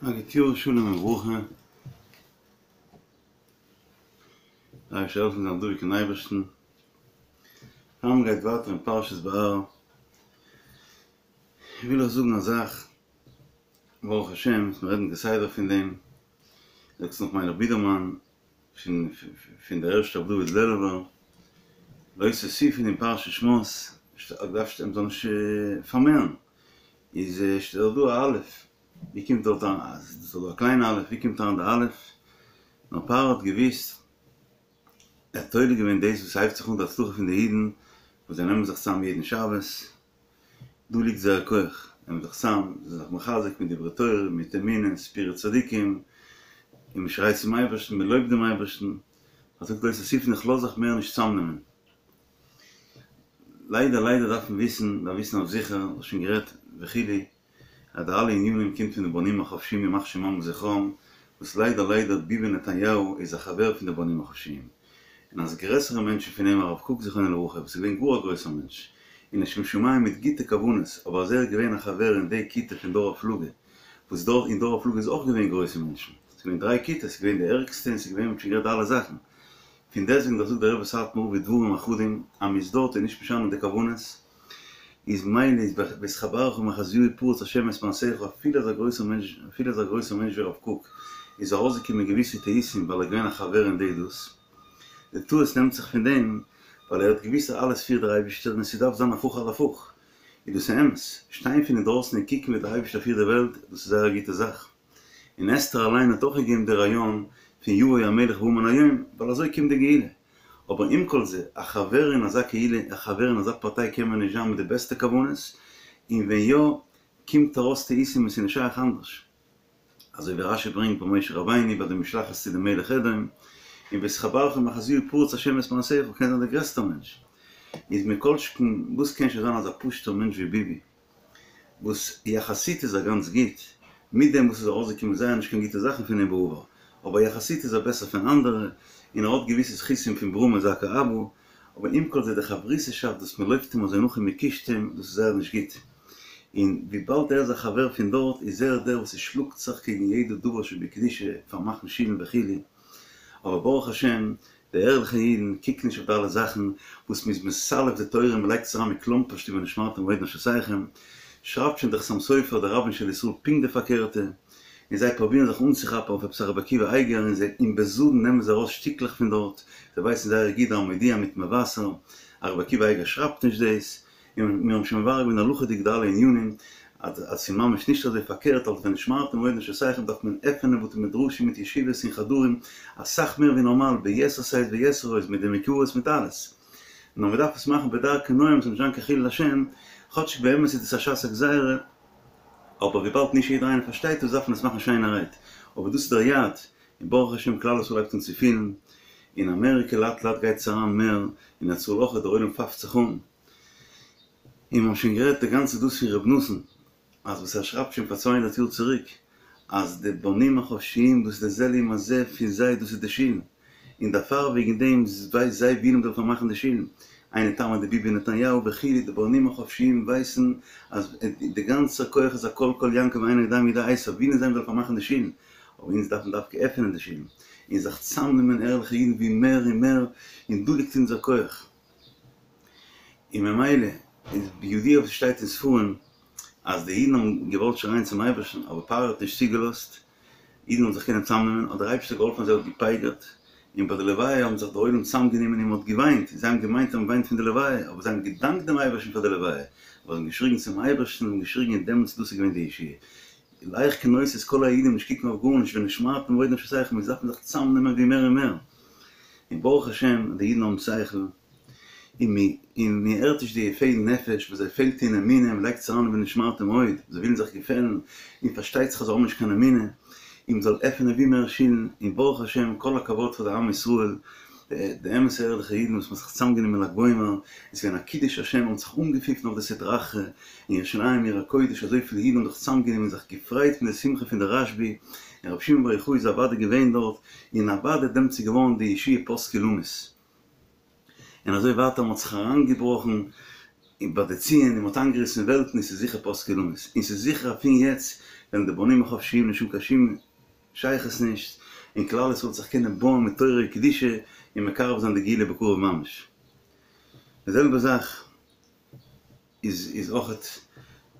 א גוט יאר שלום וברכה, דער אייבערשטער זאל העלפן זיין דבוק אין אייבערשטן, פאר מען גייט ווייטער אין פרשת בהר, וויל איך זאגן א זאך, ברוך השם מיר רעדן כסדר פון דעם, זאגסט נאך מיילעך בידערמאן, פון פון דער ערשטער רבי דוד לעלובער, לא תוסיפון אין פרשת שמות, דארף שטיין מ'זאל נישט פארמערן, איז שטייט דא א אלף, ווי קומט דארט אריין, ס'איז דא א קליינע אלף, ווי קומט אריין די אלף? נאר פרעה האט געוואוסט, ער האט תולה געווען דאס וואס הייבט זיך אן די הצלחה פון די אידן, וואס זיי נעמען זיך צאם יעדן שבת, דא ליגט זייער כח, נעמען זיך צאם, זיי זענען זיך מחזק מיט דברי תורה, מיט אמונה, סיפורי צדיקים, און מען שרייט צום אייבערשטן, מען לויבט דעם אייבערשטן, ער זאגט לא תוסיפון איך לאז זיך מער נישט צאמנעמען. ליידער ליידער דארף מען וויסן, דארף וויסן אויף זיכער, האב שוין גערעדט וכו', אז די אלע ענינים קומט פון די בונים החופשיים ימח שמם וזכרם, וואס ליידער ליידער ביבי נתניהו איז א חבר פון די בונים החופשיים, און אז גרעסערע מענטשן פון אים הרב קוק זכרונו לברכה וואס איז געווען גאר א גרויסער מענטש, און לשם שמים מיט גוטע כוונות, אבער אז ער איז געווען א חבר אין די כיתה פון דור הפלגה, וואס דארט אין דור הפלגה איז אויך געווען גרויסע מענטשן, ס'איז געווען דריי כיתות, ס'איז געווען די ערגסטע און ס'איז געווען מ'האט שוין גערעדט די אלע זאכן, פון דעסטוועגן דאך זאגט דער רבי סאטמאר רב דברים אחדים אז מ'איז דארט איז נישט משנה די כוונות, איז מילא איז בהתחברך עם אחזיהו פרוץ השם את מעשיך אפילו אזא גרויסער מענטש אפילו אזא גרויסער מענטש ווי הרב קוק איז ארויסגעקומען געוויסע טעותים ווייל ער איז געווען א חבר אין די דאס די טעות נעמט זיך פון דעם ווייל ער האט געוויסט אז אלעס פירט דער אייבישטער און ס'דארף זיין הפוך על הפוך איז דאס אמת שטיין פון אינדרויסן און קוקן ווי דער אייבישטער פירט די וועלט דאס איז זייער א גוטע זאך און אסתר אליין האט אויך געגעבן די רעיון פון יבוא המלך והמן היום ווייל אזוי קומט די גאולה אבער עם כל זה, א חבר אין אזא קהילה, א חבר אין אזא פארטיי קען מען נישט זיין מיט די בעסטע כוונות, און ווען יא, קומט ארויס טעותים און ס'איז נישט שייך אנדערש. אזוי ווי רשי ברענגט ביי משה רבינו ביי די משלחת צו די מלך אדום, און בהתחברך עם אחזיהו פרוץ השם את מעשיך קען זיין דער גרעסטער מענטש. איז מכל שכן, וואס קען שוין זיין אזא פשוט'ער מענטש ווי ביבי? וואס יחסית איז ער גאנץ גוט, מיט דעם וואס איז ארויסגעקומען זייער נישט קיין גוטע זאכן פון אים בעבר, אבער יחסית איז ער בעסער פון אנדערע, און ער האט געוויסע זכותים פון ברא מזכה אבא, אבער עם כל זה די חברותא'שאפט וואס מען לויפט אים אזוי נאך און מען קישט אים, דאס איז זייער נישט גוט. און וויבאלד ער איז א חבר פון דארט איז ער דער וואס ער שלאגט זיך קעגן יעדע דבר שבקדושה, פארמאכן שולן וכו', אבער ברוך השם די ערליכע אידן קוקן נישט אויף די אלע זאכן וואס מ'איז מסלף די תורה און מ'לייגט עס אריין מכלומפרשט אין ונשמרתם מאוד לנפשותיכם, שרייבט שוין דער חתם סופר דער רבן של ישראל פונקט די פארקערטע, און זיי פרובירן זיך אנצוכאפן אויף עפעס א רבי עקיבא אייגער און זיי און בזדון נעמען זיי ארויס שטיקלעך פון דארט, זיי ווייסן זייער גוט די המודיע מיט מבשר אז רבי עקיבא אייגער שרייבט נישט דאס, און מיר האבן שוין מברר געווען הלכה'דיג די אלע ענינים, אז אז ס'איז ממש נישט אזוי פארקערט אלס ונשמרתם מאוד לנפשותיכם דארף מען עפענען בתי מדרשים מיט ישיבות און חדרים אסאך מער ווי נארמאל ביתר שאת ויתר עוז מיט די מקוואות מיט אלעס. נאר מ'דארף עס מאכן בדרכי נועם ס'זאל נישט זיין קיין חילול השם, כאטשיג באמת איז דאס א שעת הגזירה, אבער וויבאלד נישט יעדער איינער פארשטייט דאס דארף מען עס מאכן שיינערהייט, אבער דאס איז דער יעד, און ברוך השם כלל ישראל הייבט אן צו פילן, אין אמעריקע לאט לאט גייט עס אריין מער, אין ארץ ישראל אויך, דער עולם פאפט זיך אן. און מיר האבן שוין גערעדט די גאנצע דאס פון ר' נתן, אז וואס ער שרייבט שוין פאר 200 יאר צוריק, אז די בונים החופשיים דאס איז די זה לעומת זה פון זיי דאס איז די שולן, און דערפאר וועגן דעם ווייל זיי ווילן מ'זאל פארמאכן די שולן, היינו טעמא דביבי נתניהו וכו' די בונים החופשיים ווייסן אז די גאנצע כח איז הקול קול יעקב ואינו יודע מידי עשו ווילן זיי מ'זאל פארמאכן די שולן, אבער אונז דארפן דווקא עפענען די שולן, און זיך צאמנעמען ערליכע אידן ווי מער און מער, און דא ליגט אונזער כח. און ממילא איז בידוע וואס שטייט אין ספרים אז די אידן האבן געוואלט שרייען צום אייבערשטן אבער פרעה האט נישט צוגעלאזט אידן זאלן זיך קענען צאמנעמען האט דער אייבערשטער געהאלפן אז ער האט געפייגערט און ביי די לוויה האבן זיך די עולם צאמגענומען און מען האט געוויינט זיי האבן געמיינט אז מען וויינט פון די לוויה אבער זיי האבן געדאנקט דעם אייבערשטן פאר די לוויה ווייל זיי האבן געשריגן צום אייבערשטן און געשריגן און דעמאלטס דאס איז געווען די ישועה לך כנוס את כל היהודים נישט קוקן אויף גארנישט ונשמרתם מאוד לנפשותיכם מיר דארפן זיך צאמנעמען ווי מער און מער און ברוך השם די אידן האבן שכל און און מען הערט נישט די יפי נפש וואס זיי פעלט אין אמונה מען לייגט עס אריין אין ונשמרתם מאוד זיי ווילן זיך געפעלן און פארשטייט זיך אז זיי האבן נישט קיין אמונה און מען זאל עפענען ווי מער שולן און ברוך השם כל הכבוד פאר די עם ישראל די אמת'ע ערליכע אידן וואס מען האט זיך צוזאמגענומען ל"ג בעומר, עס איז געווען א קידוש השם, מען האט זיך אנגעפיפן אויף די סטרא אחרא, אין ירושלים עיר הקודש, אזויפיל אידן האבן זיך צוזאמגענומען און זיך געפרייט פון די שמחה פון די רשב"י, און רבי שמעון בר יוחאי איז אוודאי געווען דארט, און אוודאי דעמאלטס איז געווארן די ישועה פסקה למות. און אזוי ווייטער מען האט זיך אריינגעבראכן. און ביי די ציון און מ'האט איינגעריסן וועלטן און ס'איז זיכער פסקו למות און ס'איז זיכער אז פון יעצט וועלן די בונים החופשיים נישט האבן קיין שום שייכות נישט און כלל ישראל וועט זיך קענען בויען מיט תורה וקדושה און מקרב זיין די גאולה בקרוב ממש. די זעלבע זאך איז איז אויכעט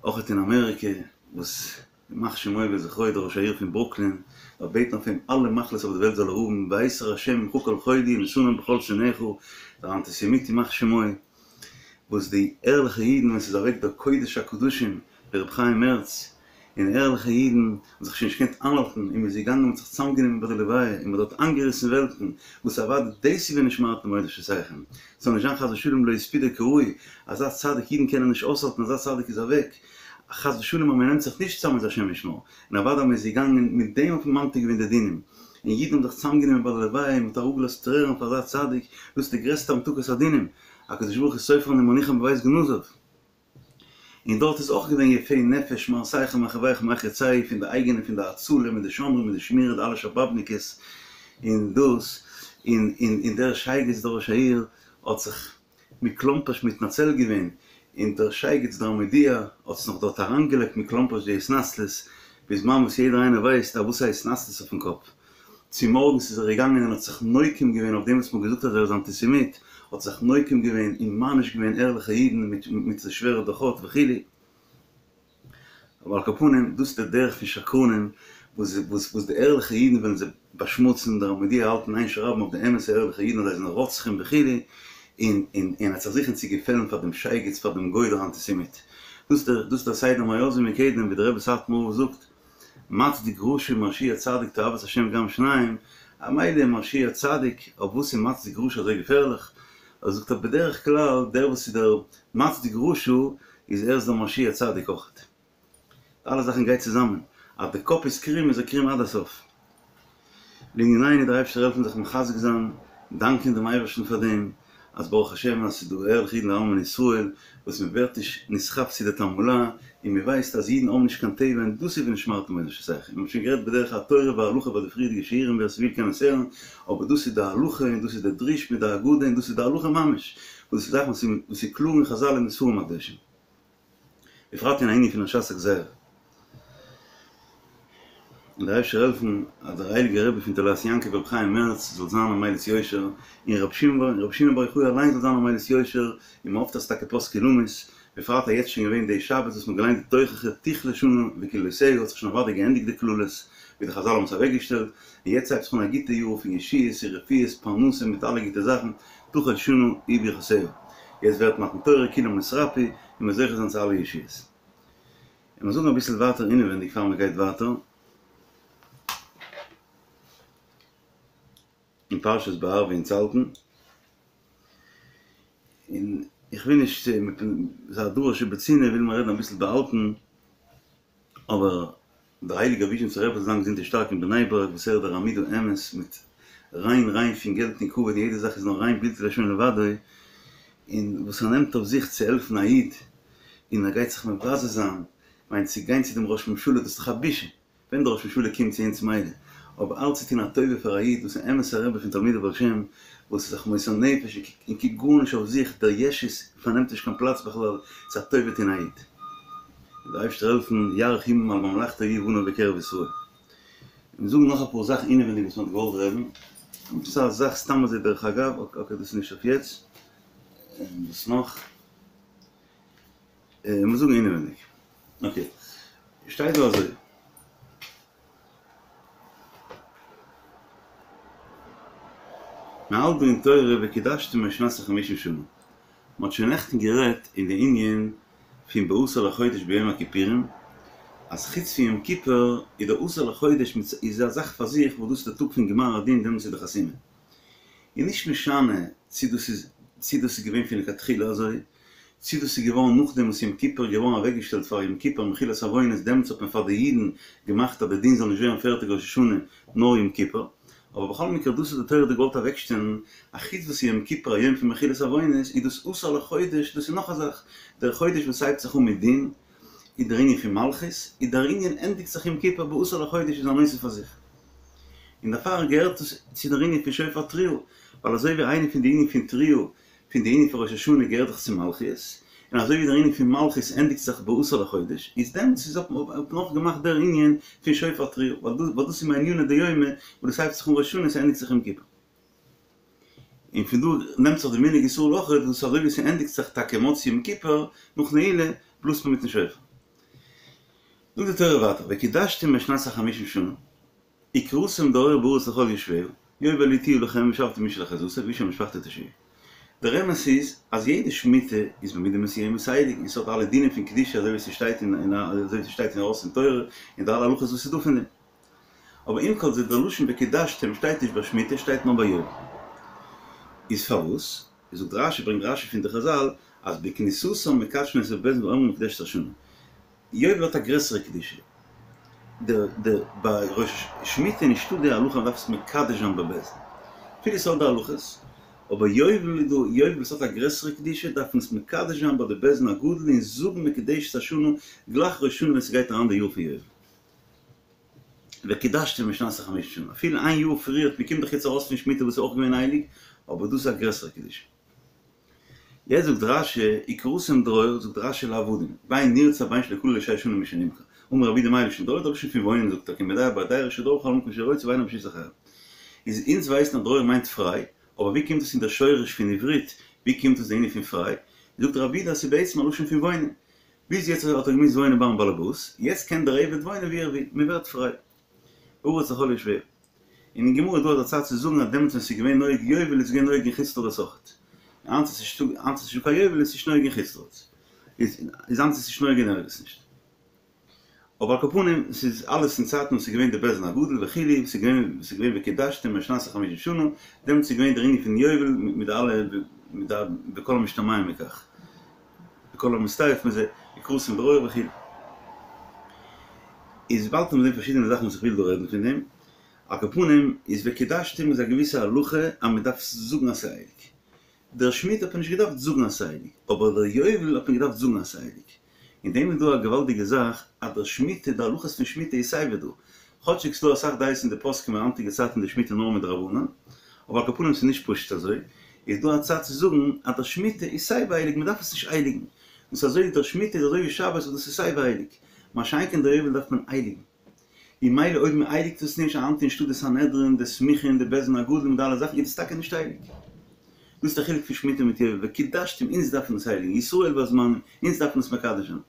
אויכעט אין אמעריקע וואס ימח שמו וזכרו דער ראש העיר פון ברוקלין דארף בעטן אויף אים אלע מחלות אויף די וועלט זאל ער האבן והסיר השם ממך כל חולי ונתנם בכל שונאיך דער אנטיסעמיט ימח שמו וואס די ערליכע אידן ווען ס'איז אוועק דער קודש הקדשים דער רבי חיים מערץ און ערליכע אידן האבן זיך שוין נישט געקענט איינהאלטן און מ'איז געגאנגען מ'האט זיך צוזאמגענומען ביי די לוויה און מ'האט דארט איינגעריסן וועלטן, וואס אוודאי דאס איז ונשמרתם מאוד לנפשותיכם, ס'זאל נישט זיין חס ושלום לא הספידו כראוי, אזא צדיק אידן קענען נישט אויסהאלטן אזא צדיק איז אוועק, חס ושלום אז מ'נעמט זיך נישט צוזאם איז השם ישמור, און אוודאי אז מ'איז געגאנגען מיט דעם האט מען ממתיק געווען די דינים, און אידן האבן זיך צוזאמגענומען ביי די לוויה און מ'האט אראפגעלאזט טרערן פאר אזא צדיק, דאס איז די גרעסטע המתקת הדינים, הקדוש ברוך הוא סופרן ומניחן בבית גנזיו. און דארט איז אויך געווען יפי נפש מהרסיך ומחריביך ומחריצך פון די אייגענע פון די הצלה מיט די שומרים מיט די שמירה די אלע שבאבניקעס און דאס און און און דער שייגעץ דער ראש העיר האט זיך מכלומפערשט מתנצל געווען און דער שייגעץ דער המודיע האט עס נאך דארט אריינגעלייגט מכלומפערשט די התנצלות בזמן וואס יעדער איינער ווייסט אז וואס הייסט התנצלות אויפן קאפ. צומארגנס איז ער געגאנגען און האט זיך נוקם געווען אויף דעם וואס מ'האט געזאגט אז ער איז אנטיסעמיט, האט זיך נוקם געווען און מעניש געווען ערליכע אידן מיט מיט די שווערע דוחות וכו'. אבער על כל פנים, דאס איז דער דרך פון שקרנים, וואס וואס וואס די ערליכע אידן וועלן זיי באשמוצן, דער המודיע האלט אין איין שרייבן אויף די אמת'ע ערליכע אידן אז זיי זענען רוצחים וכו', און און און ער האט זיך זוכן צו געפעלן פאר דעם שייגעץ פאר דעם גוי דער אנטיסעמיט. דאס איז דער דאס איז דער סדר מאז ומקדם ווי דער רבי סאטמאר רב זאגט. מצדיק רשע ומרשיע צדיק תועבת השם גם שניים, א מילא מרשיע צדיק, אויף וואס איז מצדיק רשע אזוי געפערליך? אזוי זאגט ער בדרך כלל דער וואס איז דער מצדיק רשע איז ער איז דער מרשיע צדיק אויכעט. די אלע זאכן גייט צוזאמען, אז די קאפ איז קרום איז ער קרום עד הסוף. לענינינו דער אייבערשטער העלפן זיך מחזק זיין, דאנקען דעם אייבערשטן פאר דעם אז ברוך השם אז ס'איז דא ערליכע אידן לעלמין ישראל וואס מען ווערט נישט נסחף צו די תעמולה און מען ווייסט אז אידן האבן נישט קיין טבע און דאס איז ונשמרתם מאוד לנפשותיכם, מיר האבן שוין גערעדט בדרך התורה וההלכה ביי די פריערדיגע שיעורים ווער ס'וויל קען עס הערן, אבער דאס איז די הלכה און דאס איז די דרוש מיט די אגדה און דאס איז די הלכה ממש, וואס איז זאכן וואס איז קלאר אין חזל און אין ספרים הקדושים. בפרט אין ענין פון א שעת הגזירה. און דער אייבערשטער העלפן אז דער הייליגער רבי פון תולעת יעקב רבי חיים מערץ זאל זיין א מליץ יושר, און רבי שמעון רבי שמעון בר יוחאי אליין זאל זיין א מליץ יושר, און מען האפט אז טאקע פסקו למות, בפרט אז יעצט שוין געווען די שבת וואס מען האט געליינט די תוכחה תכלה שנה וקללותיה האט זיך שוין אוודאי געענדיגט די קללות ווי די חזל האבן עס אוועקגעשטעלט, און יעצט הייבט זיך אן א גוטע יאר פון ישועות און רפואות פרנסה מיט אלע גוטע זאכן, תחל שנה וברכותיה. יעצט ווערט מתן תורה כולם נתרפאו און מ'זאל זוכה זיין צו אלע ישועות. און מיר זאגן אביסל ווייטער אינעווענדיג פאר מען גייט ווייטער אין פרשת בהר ווי אונז האלטן. און איך וויל נישט ס'איז א דבר שבצנעה וויל מען רעדן אביסל באהאלטן אבער דער הייליגער וויזשניצער רבי זאל זיין געזונט און שטארק אין בני ברק וואס ער איז דער עמוד האמת מיט ריין ריין פון געלט און כבוד און יעדע זאך איז נאר ריין בלתי לשון לבדו און וואס ער נעמט אויף זיך צו העלפן א איד און ער גייט זיך מבזה זיין, מיין צו גיין צו דעם ראש ממשלה דאס איז דאך א בושה. ווען דער ראש ממשלה קומט צו אונז מילא, אבער אלץ צו טון א טובה פאר א איד וואס איז אמת'ע רבי פון תלמידי בעל שם, וואס איז זיך מוסר נפש און קוקט גארנישט אויף זיך, דער ישות פארנעמט נישט קיין פלאץ בכלל, צו א טובה טון א איד. זאל דער אייבערשטער העלפן, יאריך ימים על ממלכתו ויהיו בניו בקרב ישראל. און זאגן נאך אפאר זאכן אינעווענדיג וואס מען האט געוואלט רעדן, דאס איז א זאך סתם אזוי דרך אגב, אקעי דאס איז נישט אויף יעצט, און וואס נאך? מיר זאגן אינעווייניג. אקעי. שטייט דא אזוי. מען האלט דא אין תורה וקדשתם את שנת החמישים שנה. מען האט שוין נעכטן גערעדט אין די ענין פון בעשור לחודש ביום הכיפורים, אז חוץ פון יום כיפור איז דער עשור לחודש איז א זאך פאר זיך וואס דאס איז דער טאג פון גמר הדין דעמאלטס איז די חתימה. איז נישט משנה צי דאס איז צי דאס איז געווען פון לכתחילה אזוי, צי דאס איז געווארן נאכדעם וואס יום כיפור איז געווארן אוועקגעשטעלט פאר יום כיפור מחילת עוונות, דעמאלטס האט מען פאר די אידן געמאכט אז די דין זאל נישט ווערן פערטיג ראש השנה נאר יום כיפור, אבער בכל מקרה דאס האט די תורה דא געוואלט אוועקשטעלן, א חוץ וואס יום כיפור א יום פון מחילת עוונות איז דאס עשור לחודש, דאס איז נאך א זאך, דער חודש וואס הייבט זיך אן מיט דין איז דער ענין פון מלכות, איז דער ענין ענדיגט זיך יום כיפור בעשור לחודש איז א נושא פאר זיך. און דערפאר געהערט עס צו דער ענין פון שופר תרועה, ווייל אזוי ווי איינע פון די ענין פון תרועה פון די ענין פון ראש השנה געהערט דאך צו מלכיות, און אזוי ווי דער ענין פון מלכות ענדיגט זיך בעשור לחודש, איז דעמאלטס איז האט מען אויך געמאכט דער ענין פון שופר תרועה, ווייל דאס איז מעניני דיומא, וואס דאס הייבט זיך אן ראש השנה און ס'ענדיגט זיך יום כיפור. און פון דא נעמט זיך די מנהג ישראל אויך, וואס אזוי ווי ס'ענדיגט זיך טאקע מוצאי יום כיפור, נאך נעילה, בלאזט מען מיטן שופר. זאגט די תורה ווייטער, וקידשתם את שנת החמישים שנה, וקראתם דרור בארץ לכל יושביה, יובל היא תהיה לכם ושבתם איש אל אחוזתו ואיש אל משפחתו תשובו. דער אמת איז אז יעדע שמיטה איז במידה מסוימת הייליג און ס'האט אלע דינים פון קדושה אזוי ווי ס'שטייט אין אזוי ווי ס'שטייט אין ארויס אין תורה און די אלע הלכות וואס איז דא פון דעם. אבער עם כל זה דער לשון וקידשתם שטייט נישט ביי שמיטה שטייט נאר ביי יובל. איז פארוואס? זאגט רשי ברענגט רשי פון די חזל אז בכניסתם מקדשין אותה בבית דין ואומרים מקודשת השנה. יובל האט א גרעסערע קדושה. דער דער ביי ראש שמיטה איז נישטא די הלכה מ'דארף עס מקדש זיין בבית דין. אפילו ס'האט די הלכות, אבער יובל איז דא, יובל וואס האט א גרעסערע קדושה דארף מען עס מקדש זיין ביי די בית דין הגדול און זאגן מקודשת השנה גלייך ראש השנה ווען ס'גייט אריין די יאר פון יובל. וקידשתם את שנת החמישים שנה, אפילו איין יאר פריערט, מ'קומט דאך יעצט ארויס פון שמיטה וואס איז אויך געווען הייליג, אבער דאס איז א גרעסערע קדושה. יעצט זאגט רש"י, וקראתם דרור, זאגט רש"י לעבדים, בין נרצע בין שלא כלו לו שש שנים משנמכר. אמר רבי יהודה מאי לשון דרור, דער לשון פון וואוינען זאגט ער, כי מדייר בר דירה שדר בכל מקום שרוצה ואינו ברשות אחרים. איז אונז ווייסן אז דרור מיינט פריי, אבער ווי קומט עס אין דער שורש פון עברית, ווי קומט עס די ענין פון פריי? זאגט רבי יהודה אז ס'איז בעצם א לשון פון וואוינען. ביז יעצט האט ער געמוזט וואוינען ביים באלעבאס, יעצט קען דער עבד וואוינען ווי ער וויל, מען ווערט פריי. בארץ לכל יושביה. און אין גמרא איז דא אזא צד צו זאגן אז דעמאלטס ווען ס'איז געווען נוהג יובל איז געווען נוהג אין חוץ לארץ אויכעט. היינט איז נישטא היינט איז נישטא קיין יובל איז נישט נוהג אין חוץ לארץ. איז איז היינט איז נישט נוהג אין ערגעץ נישט. אבער על כל פנים ס'איז אלעס אין צייטן וואס ס'איז געווען די בית דין הגדול וכו' וואס ס'איז געווען וואס ס'איז געווען וקידשתם את שנת החמישים שנה דעמאלטס איז געווען דער ענין פון יובל מיט די אלע מיט די וכל המשתמע מכך. וכל המסתעף מזה, וקראתם דרור וכו'. איז באלד וועט מען זען פארשידענע זאכן וואס איך וויל דא רעדן פון דעם, על כל פנים איז וקידשתם איז א געוויסע הלכה אז מען דארף זאגן אז ס'איז הייליג. דער שמיטה האט מען נישט געדארפט זאגן אז ס'איז הייליג, אבער דער יובל האט מען געדארפט זאגן אז ס'איז הייליג. אין דעם איז דא א געוואלדיגע זאך אז דער שמיטה, די הלכות פון שמיטה איז סייווי דא. כאטשיג ס'דא אסאך דעות אין די פוסקים אין היינטיגע צייטן די שמיטה נאר מדרבנן, אבער על כל פנים ס'איז נישט פשוט אזוי, איז דא א צד צו זאגן אז דער שמיטה איז סייווי הייליג מ'דארף עס נישט הייליגן, דאס אזוי ווי דער שמיטה איז אזוי ווי שבת וואס דאס איז סייווי הייליג, מה שאין כן דער יובל דארף מען הייליגן. און ממילא אויב מ'הייליגט עס נישט היינט איז נישטא די סנהדרין, די סמיכה און די בית דין הגדול מיט די אלע זאכן איז עס טאקע נישט הייליג. דאס איז דער חילוק פון שמיטה מיט יובל, וקידשתם אונז דארפן עס הייליגן, ישראל והזמנים, אונז דארפן עס מקדש זיין.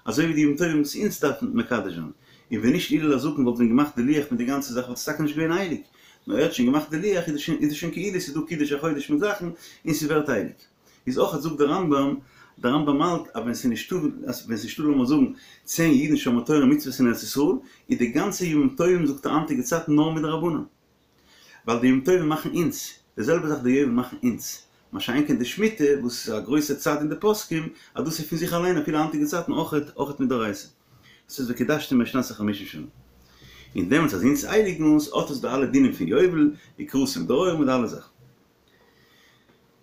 אזוי ווי די ימים טובים וואס אונז דארפן מקדש זיין. און ווען נישט הלל הזקן וואלט ווען געמאכט די לוח מיט די גאנצע זאך וואלט עס טאקע נישט געווען הייליג. נאר ער האט שוין געמאכט די לוח איז עס שוין כאילו ס'איז דא קידוש החודש מיט זאכן און ס'ווערט הייליג. איז אויך זאגט דער רמב"ם, דער רמב"ם האלט אז ווען ס'איז נישטא אז ווען ס'איז נישטא לאמיר זאגן צען אידן שומרי תורה ומצוות אין ארץ ישראל, איז די גאנצע ימים טובים זאגט ער היינטיגע צייטן נאר מדרבנן. ווייל די ימים טובים מאכן אונז, די זעלבע זאך די יובל מאכן אונז, מה שאין כן די שמיטה וואס איז א גרויסע צד אין די פוסקים אז דאס איז פון זיך אליין אפילו היינטיגע צייטן אויכעט אויכעט מדאורייתא. דאס איז וקידשתם את שנת החמישים שנה. און דעמאלטס אז אונז הייליגן אונז האט עס די אלע דינים פון יובל, וקראתם דרור מיט די אלע זאכן.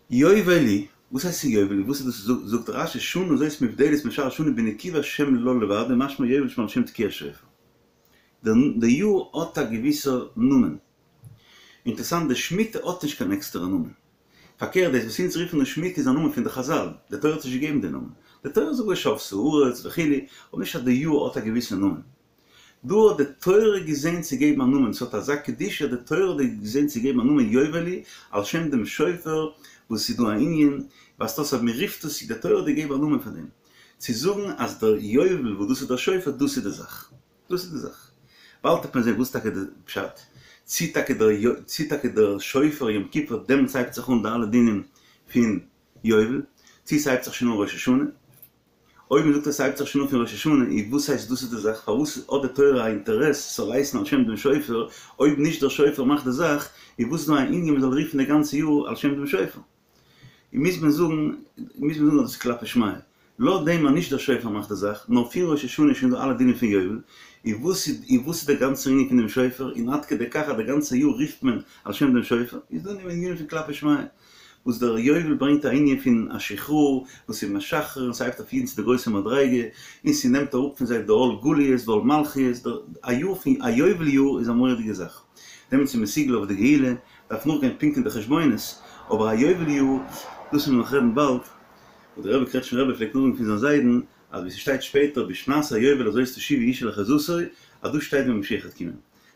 יובל היא, וואס הייסט יובל היא? וואס איז דאס זאגט רש"י שנה זאת מובדלת משאר השנים בנקיבת שם לה לבדו משמע יובל שעל שם תקיעת שופר. די יאר האט א געוויסער נאמען. אינטערעסאנט די שמיטה האט נישט קיין עקסטערע נאמען. פארקערט דאס וואס אונז רופן אן שמיטה איז א נאמען פון די חזל, די תורה האט נישט געגעבן די נאמען. די תורה זאגט ושבתה הארץ וכו', אבער נישט אז די יאר האט א געוויסע נאמען. דא האט די תורה געזען צו געבן א נאמען, ס'האט אזא קדושה האט די תורה געזען צו געבן א נאמען יובל היא, על שם דעם שופר, וואס ס'איז דא א ענין, ווייזט אויס אז מ'רופט עס, די תורה האט געגעבן א נאמען פאר דעם. צו זאגן אז דער יובל וואס דאס איז דער שופר דאס איז די זאך. דאס איז די זאך. באלד וועט מען זען וואס טאקע די פשט, צי טאקע דער צי טאקע דער שופר יום כיפור דעמאלטס הייבט זיך אן די אלע דינים פון יובל, צי ס'הייבט זיך שוין אן ראש השנה. אויב מ'זאגט אז ס'הייבט זיך שוין אן פון ראש השנה, איז וואס הייסט דאס איז די זאך? פארוואס האט די תורה א אינטערעס ס'זאל הייסן על שם דעם שופר, אויב נישט דער שופר מאכט די זאך, איז וואס איז דא א ענין מ'זאל רופן די גאנצע יאר על שם דעם שופר? און מוז מען זאגן, מוז מען זאגן אז דאס איז כלפי שמיא. לויט דעם אז נישט דער שופר מאכט די זאך, נאר פון ראש השנה איז שוין דא אלע דינים פון יובל, און וואס איז, און וואס איז דער גאנצער ענין פון דעם שופר, און עד כדי כך אז די גאנצע יאר רופט מען על שם דעם שופר, איז דא אין דעם ענינים פון כלפי שמיא, וואס דער יובל ברענגט א ענין פון א שחרור, וואס איז משחרר און ס'הייבט אויף אידן צו די גרויסע מדריגה, און ס'נעמט אראפ פון זיי די עול גליות ועול מלכיות, דער א יאר פון א יובל יאר איז א מורא'דיגע זאך, דעמאלטס איז מסוגל אויף די גאולה, דארף נאכגיין פונקט אין די חשבונות, אבער א יובל יאר, דאס וועלן מיר נאך רעדן באלד. וואס דער רבי קרעטשמער רבי פלעגט נאכזאגן פון זיין זיידן, אז ווי ס'שטייט שפעטער בשנת היובל הזאת תשובו איש אל אחוזתו, אז דא שטייט ווען משיח וועט קומען.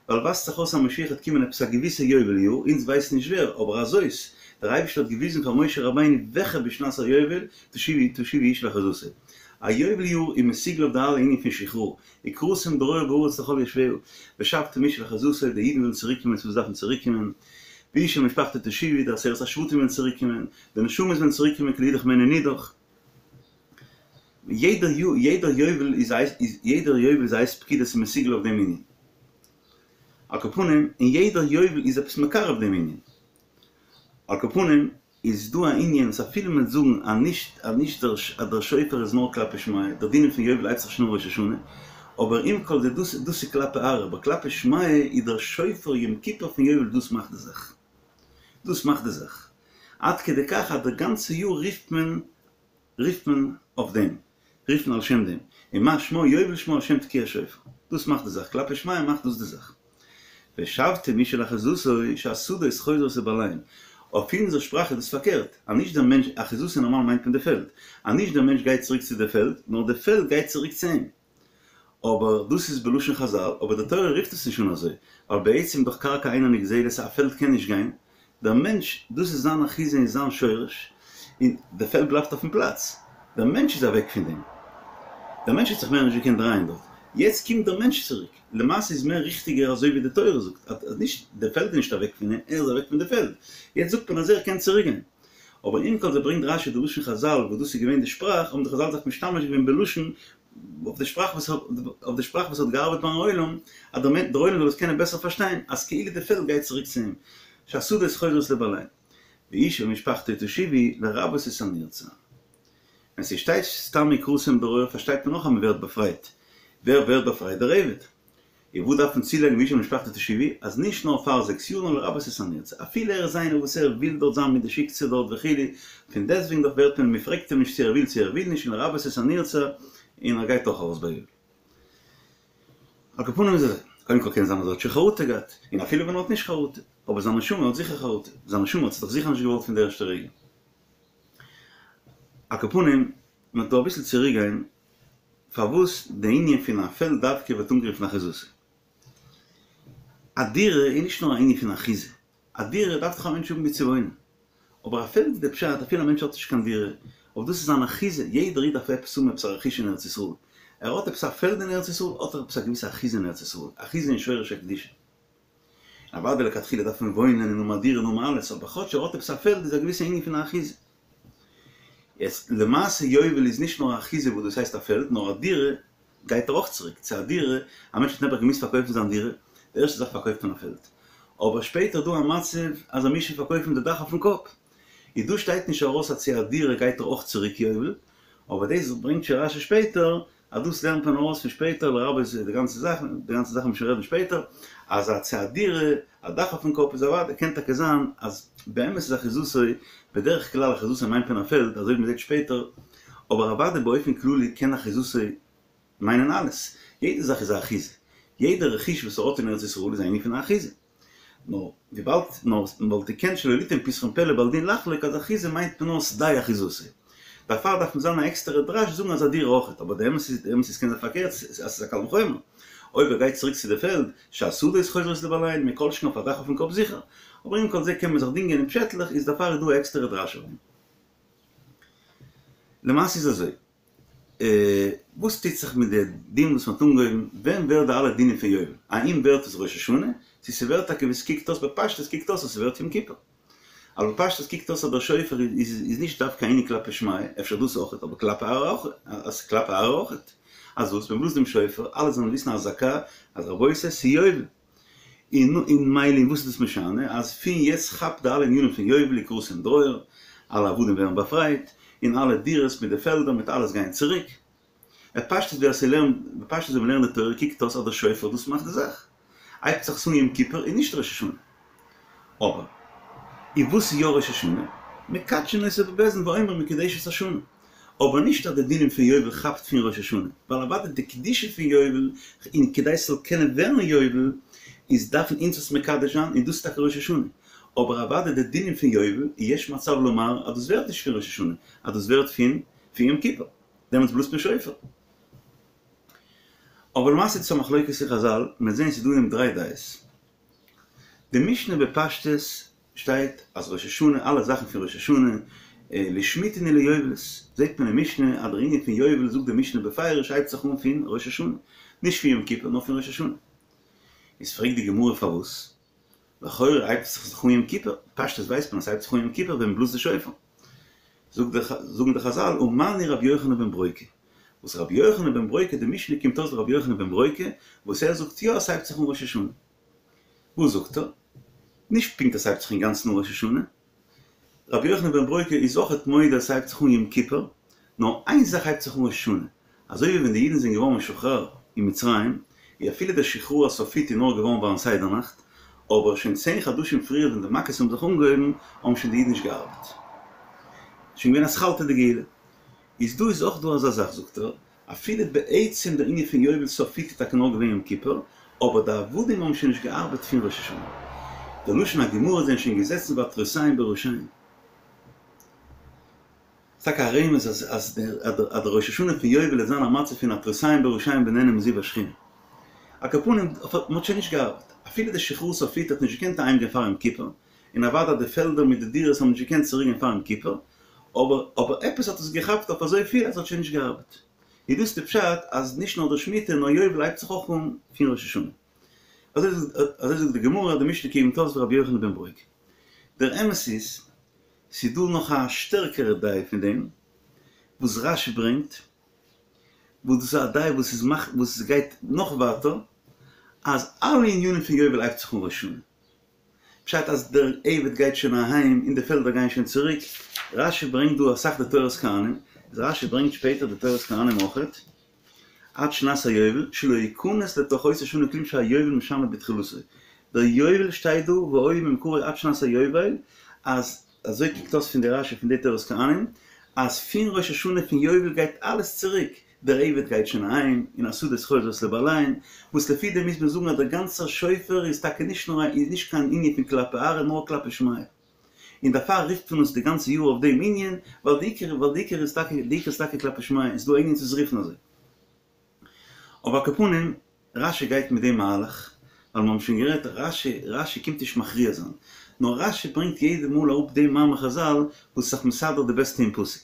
ווייל ווייזט זיך אויס אז משיח וועט קומען עפעס א געוויסע יובל יאר, אונז ווייסן נישט ווער, אבער הזאת, דער אייבערשטער האט געוויזן פאר משה רבינו וועלכע בשנת היובל תשובו תשובו איש אל אחוזתו. א יובל יאר איז מסוגל אויף די אלע ענינים פון שחרור, וקראתם דרור בארץ לכל יושביה, ושבתם איש אל אחוזתו, די אידן וועלן צוריק קומען צו וואס דארפן צוריק קומען, ואיש אל משפחתו תשובו, די עשרת השבטים וועלן צוריק קומען, די נשמות וועלן צוריק קומען כי לאידך מעין נידח. יעדער יעדער יובל איז א יעדער יובל איז א עת פקידה ס'איז מסוגל אויף דעם ענין. על כל פנים, און יעדער יובל איז עפעס מקרב דעם ענין. על כל פנים, איז דא א ענין וואס אפילו מען וועט זאגן אז נישט אז נישט דער אז דער שופר איז נאר כלפי שמיא, דער דין פון יובל הייבט זיך שוין אן ראש השנה, אבער עם כל זה דאס דאס איז כלפי ארעא, אבער כלפי שמיא איז דער שופר יום כיפור פון יובל דאס מאכט די זאך. דאס מאכט די זאך. עד כדי כך אז די גאנצע יאר רופט מען רופט מען אויף דעם, רופט מען על שם דעם, און מה שמו יובל שמו על שם תקיעת שופר, דאס מאכט די זאך, כלפי שמיא מאכט דאס די זאך. ושבתם איש אל אחוזתו שהשדות חוזרות לבעליהן, אויף אונזער שפראך איז דאס פארקערט, אז נישט דער מענטש, אחוזתו נארמאל מיינט מען די פעלד, אז נישט דער מענטש גייט צוריק צו די פעלד, נאר די פעלד גייט צוריק צו אים. אבער דאס איז בלשון חזל, אבער די תורה רופט עס נישט אן אזוי, ווייל בעצם דאך קרקע אינה נגזלת, א פעלד קען נישט גיין, דער מענטש, דאס איז זיין אחיזה און זיין שורש, און די פעלד בלייבט אויפן פלאץ, דער מענטש איז אוועק פון דעם, דער מענטש האט זיך מער נישט געקענט דרייען דארט, יעצט קומט דער מענטש צוריק, למעשה איז מער ריכטיגער אזוי ווי די תורה זאגט, אז נישט די פעלד איז נישט אוועק פון אים, ער איז אוועק פון די פעלד, יעצט זאגט מען אז ער קען צוריק גיין. אבער עם כל זה ברענגט רשי די לשון חזל וואס דאס איז געווען די שפראך, האבן די חזל זיך משתמש געווען בלשון אויף די שפראך וואס אויף די שפראך וואס האט געארבעט ביים עולם, אז דער דער עולם זאל עס קענען בעסער פארשטיין, אז כאילו די פעלד גייט צוריק צו אים, שהשדות חוזרות לבעליהן. ואיש אל משפחתו תשובו לרבות את הנרצע. ווען ס'שטייט סתם וקראתם דרור פארשטייט מען נאך אז מ'ווערט באפרייט. ווער ווערט באפרייט? דער עבד. און וואס דארף מען צולייגן ואיש אל משפחתו תשובו, אז נישט נאר פאר זעקס יאר נאר לרבות את הנרצע, אפילו ער איז איינער וואס ער וויל דארט זיין מיט די שיקצע דארט וכו', פון דעסטוועגן דאך ווערט מען, מען פרעגט אים נישט צו ער וויל צו ער וויל נישט, און לרבות את הנרצע, און ער גייט דאך ארויס ביי יובל. על כל פנים איז אזוי, קודם כל קען זיין אז ער האט שוין חרטה געהאט, און אפילו ווען ער האט נישט חרטה, אבער זיין נשמה האט זיכער חרטה, זיין נשמה האט עס דאך זיכער נישט געוואלט פון די ערשטע רגע. על כל פנים, מען וועט דא אביסל צוריק גיין, פארוואס די ענין פון א פעלד דווקא ווערט אנגערופן אחוזתו? א דירה איז נישט נאר א ענין פון אחיזה, א דירה דארף דאך א מענטש האבן וואו צו וואוינען, אבער א פעלד איז די פשט אפילו א מענטש האט נישט קיין דירה, אבער דאס איז זיין אחיזה, יעדער איד דארף עפעס האבן עפעס א רכוש אין ארץ ישראל, ער האט עפעס א פעלד אין ארץ ישראל האט ער עפעס א געוויסע אחיזה אין ארץ ישראל, אחיזה אין שורש הקדושה. אוודאי לכתחילה דארף מען וואוינען און האבן א דירה און האבן אלעס, אבער כאטש ער האט עפעס א פעלד איז א געוויסע ענין פון א אחיזה. יעצט למעשה יובל איז נישט נאר אחיזה וואס דאס הייסט א פעלד, נאר א דירה גייט ער אויך צוריק צו א דירה, א מענטש האט נעבעך געמוזט פארקויפן זיין דירה, די ערשטע זאך פארקויפט מען א פעלד, אבער שפעטער איז דא א מצב אז ער מוז שוין פארקויפן די דאך אויפן קאפ, איז דא שטייט נישט ארויס אז צו א דירה גייט ער אויך צוריק יובל, אבער דאס ברענגט שוין רשי שפעטער אז דאס לערנט מען ארויס פון שפעטער לרבות די גאנצע זאך, די גאנצע זאך וועט מען שוין רעדן שפעטער, אז א צו א דירה, א דאך אויפן קאפ איז אוודאי, קען טאקע זיין אז באמת איז אחוזתו, בדרך כלל אחוזתו מיינט מען א פעלד, אזוי ווי מען זעט שפעטער, אבער אוודאי באופן כללי קען אחוזתו מיינען אלעס, יעדע זאך איז א אחיזה, יעדע רכוש וואס ער האט אין ארץ ישראל איז א ענין פון א אחיזה. נאר וויבאלד נאר מ'וואלט געקענט שלא ליתן פתחון פה לבעל דין לחלוק אז אחיזה מיינט מען נאר שדה אחוזתו. דערפאר דארף מען זיין א עקסטערע דרש זאגן אז א דירה אויכעט, אבער די אמת איז די אמת איז קען זיין פארקערט אז ס'איז א קל וחומר. אויב ער גייט צוריק צו די פעלד, שהשדות חוזרות לבעליהן, מכל שכן אויף א דאך אויפן קאפ זיכער. אבער עם כל זה קען מען זיך דינגען אין פשעטלעך איז דערפאר איז דא א עקסטערע דרש אויף דעם. למעשה איז אזוי. וואס טוט זיך מיט די דין וואס מ'האט אנגעהויבן, ווען ווערט די אלע דינים פון יובל? האם ווערט עס ראש השנה? צו ס'ווערט טאקע ווי ס'קוקט אויס בפשטות קוקט אויס אז ס'ווערט יום כיפור. אבער בפשטות קוקט אויס אז דער שופר איז איז נישט דווקא ענין כלפי שמיא, אפשר דאס אויכעט, אבער כלפי ארעא אויכעט, אז כלפי ארעא אויכעט. אז וואס? מ'בלאזט דעם שופר, אלע זאלן וויסן אזעקה אז רבותי ס'איז יובל. און און מילא און וואס איז דאס משנה אז פון יעצט כאפט די אלע ענינים פון יובל וקראתם דרור, אלע עבדים ווערן באפרייט, און אלע דירות מיט די פעלדער מיט אלעס גייען צוריק. בפשטות ווער ס'לערנט בפשטות ווען מ'לערנט די תורה קוקט אויס אז דער שופר דאס מאכט די זאך. הייבט זיך עס אן יום כיפור און נישט ראש השנה. אבער און וואס איז יא ראש השנה? מקדשין אותו בבית דין ואומרים מקודשת השנה. אבער נישט אז די דינים פון יובל כאפט פון ראש השנה, ווייל אוודאי די קדושה פון יובל, און כדי ס'זאל קענען ווערן יובל, איז דארפן אונז עס מקדש זיין, און דאס איז טאקע ראש השנה. אבער אוודאי די דינים פון יובל, יש מצב לומר אז דאס ווערט נישט פון ראש השנה, אז דאס ווערט פון פון יום כיפור, דעמאלטס בלאזט מען שופר. אבער למעשה איז דאס א מחלוקת אין חזל, מ'וועט זען ס'איז דא אין דעם דריי דעות. די משנה בפשטות שטייט אז ראש השנה אלע זאכן פון ראש השנה לשמיטה און ליובלות, זעט מען אין משנה אז דער ענין פון יובל זאגט די משנה בפירוש הייבט זיך אן פון ראש השנה, נישט פון יום כיפור נאר פון ראש השנה. איז פרעגט די גמרא פארוואס? לכאורה הייבט עס זיך אן יום כיפור, פשטות ווייסט מען אז ס'הייבט זיך אן יום כיפור ווען מ'בלאזט די שופר. זאגן די חזל ומני רבי יוחנן בן ברוקה, וואס רבי יוחנן בן ברוקה די משנה קומט אויס רבי יוחנן בן ברוקה וואס ער זאגט יא עס הייבט זיך אן ראש השנה. וואס זאגט ער? נישט פונקט אז ס'הייבט זיך אינגאנצן אן ראש השנה, רבי יוחנן בן ברוקה איז אויכעט מודה אז ס'הייבט זיך אן יום כיפור, נאר איין זאך הייבט זיך אן ראש השנה, אזוי ווי ווען די אידן זענען געווארן משוחרר אין מצרים, איז אפילו דער שחרור הסופית איז נאר געווארן ביים סדר נאכט, אבער שוין צען חדשים פריער ווען די מכות האבן זיך אנגעהויבן האבן שוין די אידן נישט געארבעט. שוין געווען אתחלתא דגאולה. איז דא איז אויך דא אזא זאך זאגט ער, אפילו בעצם דער ענין פון יובל סופית איז טאקע נאר געווען יום כיפור, אבער די עבדים האבן שוין נישט געארבעט פון ראש השנה. דער לשון הגמרא זענען שוין געזעצן ועטרותיהם בראשיהם. ס'איז טאקע א רמז אז אז דער ראש השנה פון יובל וועט זיין א מצב פון עטרותיהם בראשיהם ונהנין מזיו השכינה. על כל פנים, מ'האט שוין נישט געארבעט. אפילו די שחרור סופית האט נישט געקענט אהיימגיין פאר יום כיפור, און אוודאי די פעלדער מיט די דירות האבן נישט געקענט צוריקגיין פאר יום כיפור, אבער אבער עפעס האט עס געכאפט אויף אזויפיל אז עס האט שוין נישט געארבעט. איז דאס די פשט אז נישט נאר די שמיטה נאר יובל הייבט זיך אויך אן פון ראש השנה. אזוי אזוי זאגט די גמרא, די משנה קומט אויס ווי רבי יוחנן בן ברוקה. דער אמת איז, ס'איז דא נאך א שטערקערע דעה פון דעם וואס רש"י ברענגט, וואס דאס איז א דעה וואס איז מאכט וואס עס גייט נאך ווייטער, אז אלע ענינים פון יובל הייבט זיך אן ראש השנה. פשט אז דער עבד גייט שוין אהיים און די פעלדער גייען שוין צוריק, רש"י ברענגט דא אסאך די תורת כהנים, איז רש"י ברענגט שפעטער די תורת כהנים אויכעט, עד שנת היובל, שלא יכנס לתוך אותה שנה כלום שהיובל משנה בתחילתו, דער יובל שטייט דא והיה ממכרו עד שנת היובל, אז אזוי קוקט אויס פון די רש"י פון די תורת כהנים, אז פון ראש השנה פון יובל גייט אלעס צוריק, דער עבד גייט שוין אהיים, און השדות חוזרות לבעליהן, וואס לפי דעם מוז מען זאגן אז דער גאנצער שופר איז טאקע נישט נאר א איז נישט קיין ענין פון כלפי ארעא נאר כלפי שמיא. און דערפאר רופט מען עס די גאנצע יאר אויף דעם ענין, ווייל די עיקר ווייל די עיקר איז טאקע די עיקר איז טאקע כלפי שמיא, און ס'איז דא א ענין צו עס רופן אזוי. אבער על כל פנים, רש"י גייט מיט דעם מהלך, ווייל מיר האבן שוין גערעדט, רש"י רש"י קומט נישט מכריע זיין, נאר רש"י ברענגט יעדע מאל אראפ דעם מאמר חזל וואס איז זיך מסדר די בעסטע אין פסוק.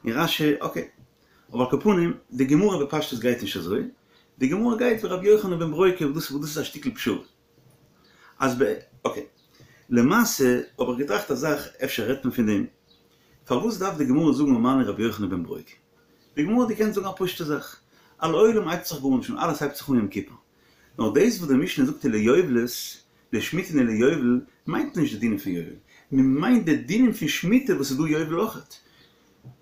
און רש"י, אקעי. אבער על כל פנים, די גמרא בפשטות גייט נישט אזוי, די גמרא גייט ווי רבי יוחנן בן ברוקה וואס דאס איז א שטיקל פשרה. אז ב. אקעי. למעשה האב איך געטראכט א זאך, אפשר רעדט מען פון דעם, פארוואס דארף די גמרא זאגן ומני רבי יוחנן בן ברוקה? די גמרא האט געקענט זאגן א פשוטע זאך, אז לעולם הייבט זיך גארנישט אן, אלעס הייבט זיך אן יום כיפור. נאר דאס וואס די משנה זאגט וליובלות, לשמיטה און ליובל, מיינט נישט די דינים פון יובל, מען מיינט די דינים פון שמיטה וואס איז דא יובל אויכעט.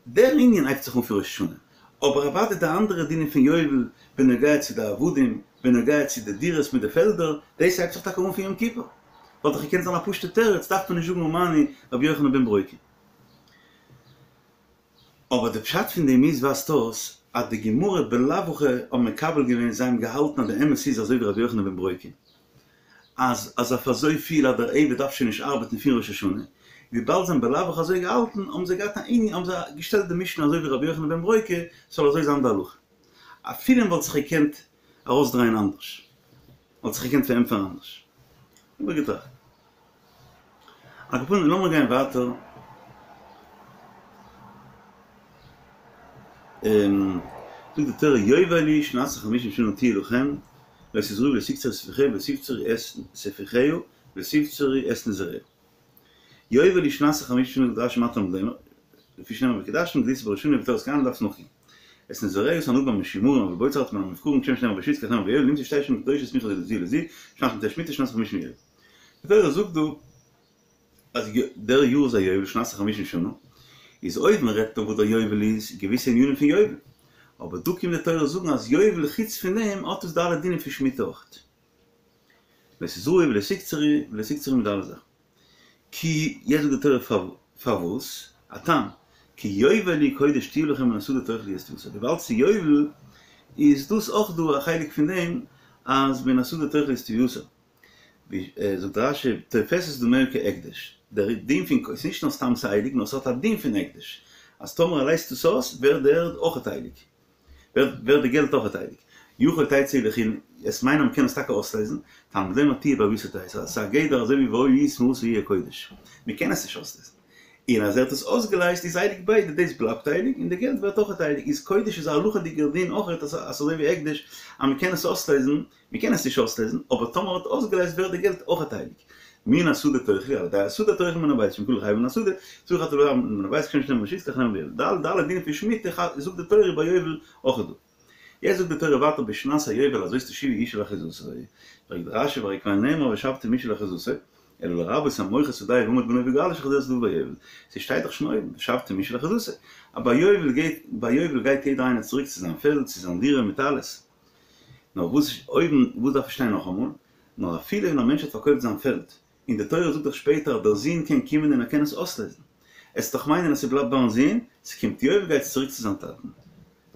דער ענין הייבט זיך אן פון ראש השנה, אבער אוודאי די אנדערע דינים פון יובל בנוגע צו די עבדים, בנוגע צו די דירות מיט די פעלדער, דאס הייבט זיך טאקע אן פון יום כיפור. וואלט דאך געקענט זיין א פשוטע תירוץ, דארף מען נישט זאגן ומני רבי יוחנן בן ברוקה. אבער די פשט פון דעם איז ווייזט אויס אז די גמרא בלאו הכי האבן מקבל געווען זיי האבן געהאלטן אז די אמת איז אזוי ווי רבי יוחנן בן ברוקה אז אז אויף אזוי פיל אז דער עבד דארף שוין נישט ארבעטן פון ראש השנה וויבאלד זיי האבן בלאו הכי אזוי געהאלטן האבן זיי געהאט א ענין האבן זיי געשטעלט די משנה אזוי ווי רבי יוחנן בן ברוקה ס'זאל אזוי זיין די הלכה אפילו מ'וואלט זיך געקענט ארויסדרייען אנדערש. וואלט זיך געקענט פארענטפערן אנדערש. האב איך געטראכט. על כל פנים לאמיר גיין ווייטער. זאגט די תורה יובל היא שנת החמישים שנה תהיה לכם לא תזרעו ולא תקצרו את ספיחיה ולא תבצרו את ספיחיה ולא תבצרו את נזיריה. יובל היא שנת החמישים שנה זאגט רש"י מה תלמוד לומר, לפי שנאמר וקדשתם ודית בראש השנה ובתורת כהנים דארפסט נאכגיין. את נזיריה את הענבים המשומרים אבל בוצר אתה מן המבכרים כשם שנאמר בשביעית כך נאמר ביובל נמצא שתי שנים קדושות סמיכות זו לזו שנת מטה שמיטה שנת החמישים יובל. די תורה זאגט דא אז דער יאר איז א יובל שנת החמישים שנה, איז אויב מען רעדט דא וואס דער יובל איז, געוויסע ענינים פון יובל, אבער דא קומט די תורה זאגן אז יובל חוץ פון דעם האט עס די אלע דינים פון שמיטה אויכעט. לא תזרעו ולא תקצרו ולא תקצרו מיט די אלע זאכן. כי, יעצט זאגט די תורה פארוואס, א טעם, כי יובל היא קודש תהיה לכם מן השדה תאכלו את תבואתה, וויבאלד ס'איז יובל איז דאס אויך דא א חלק פון דעם אז מן השדה תאכלו את תבואתה. זאגט רש"י, תופסת דמיה כהקדש, דער דין פון, ס'איז נישט נאר סתם ס'הייליג, נאר ס'האט א דין פון הקדש, אז טאמער ער לייזט עס אויס, ווערט די ערד אויכעט הייליג. ווערט די געלט אויכעט הייליג. יכול תצא לחולין, עס מיינט אז מ'קען עס טאקע אויסלייזן, תלמוד לומר תהיה בערבותו תצא, ס'איז א גדר אזוי ווי והיה היא תמורתה יהיה קודש, מ'קען עס נישט אויסלייזן. און אז ער האט עס אויסגעלייזט איז הייליג ביידע, דאס בלייבט הייליג און די געלט ווערט אויכעט הייליג, איז קודש איז א הלכה'דיגער דין אויכעט אז אזוי ווי הקדש אז מ'קען עס אויסלייזן, מ'קען עס נישט אויסלייזן, אבער טאמער ער האט אויסגעלייזט ווערט די געלט אויכעט הייליג. מן השדה תאכלו, על ידי השדה תאכלו מן הבית, שאם כלו חייבין מן השדה, צריך אתה לומר מן הבית כשם שנאמר ברשות כך נאמר ביובל. די אלע דינים פון שמיטה זאגט די תורה ביי יובל אויכעט דא. יעצט זאגט די תורה ווייטער בשנת היובל הזאת תשיבו איש אל אחוזתו, פרעגט רש"י והרי כבר נאמר ושבתם איש אל אחוזתו, אלא לרבות המוכר שדהו ועמד בנו וגאלו שחוזר שדהו ביובל, ס'שטייט דאך שוין אויבן ושבתם איש אל אחוזתו, אז ביי יובל גייט ביי יובל גייט יעדער איינער צוריק צו זיין פעלד צו זיין דירה מיט אלעס, נאר וואס אויבן וואס דארף עס שטיין נאכאמאל, נאר אפילו ווען א מענטש האט פארקויפט זיין פעלד, און די תורה זאגט דאך שפעטער אז דער זון קען קומען און ער קען עס אויסלעזן. עסט דאך מיינען אז ס'בלייבט ביים זון, ס'קומט יובל גייט עס צוריק צו זיין טאטן.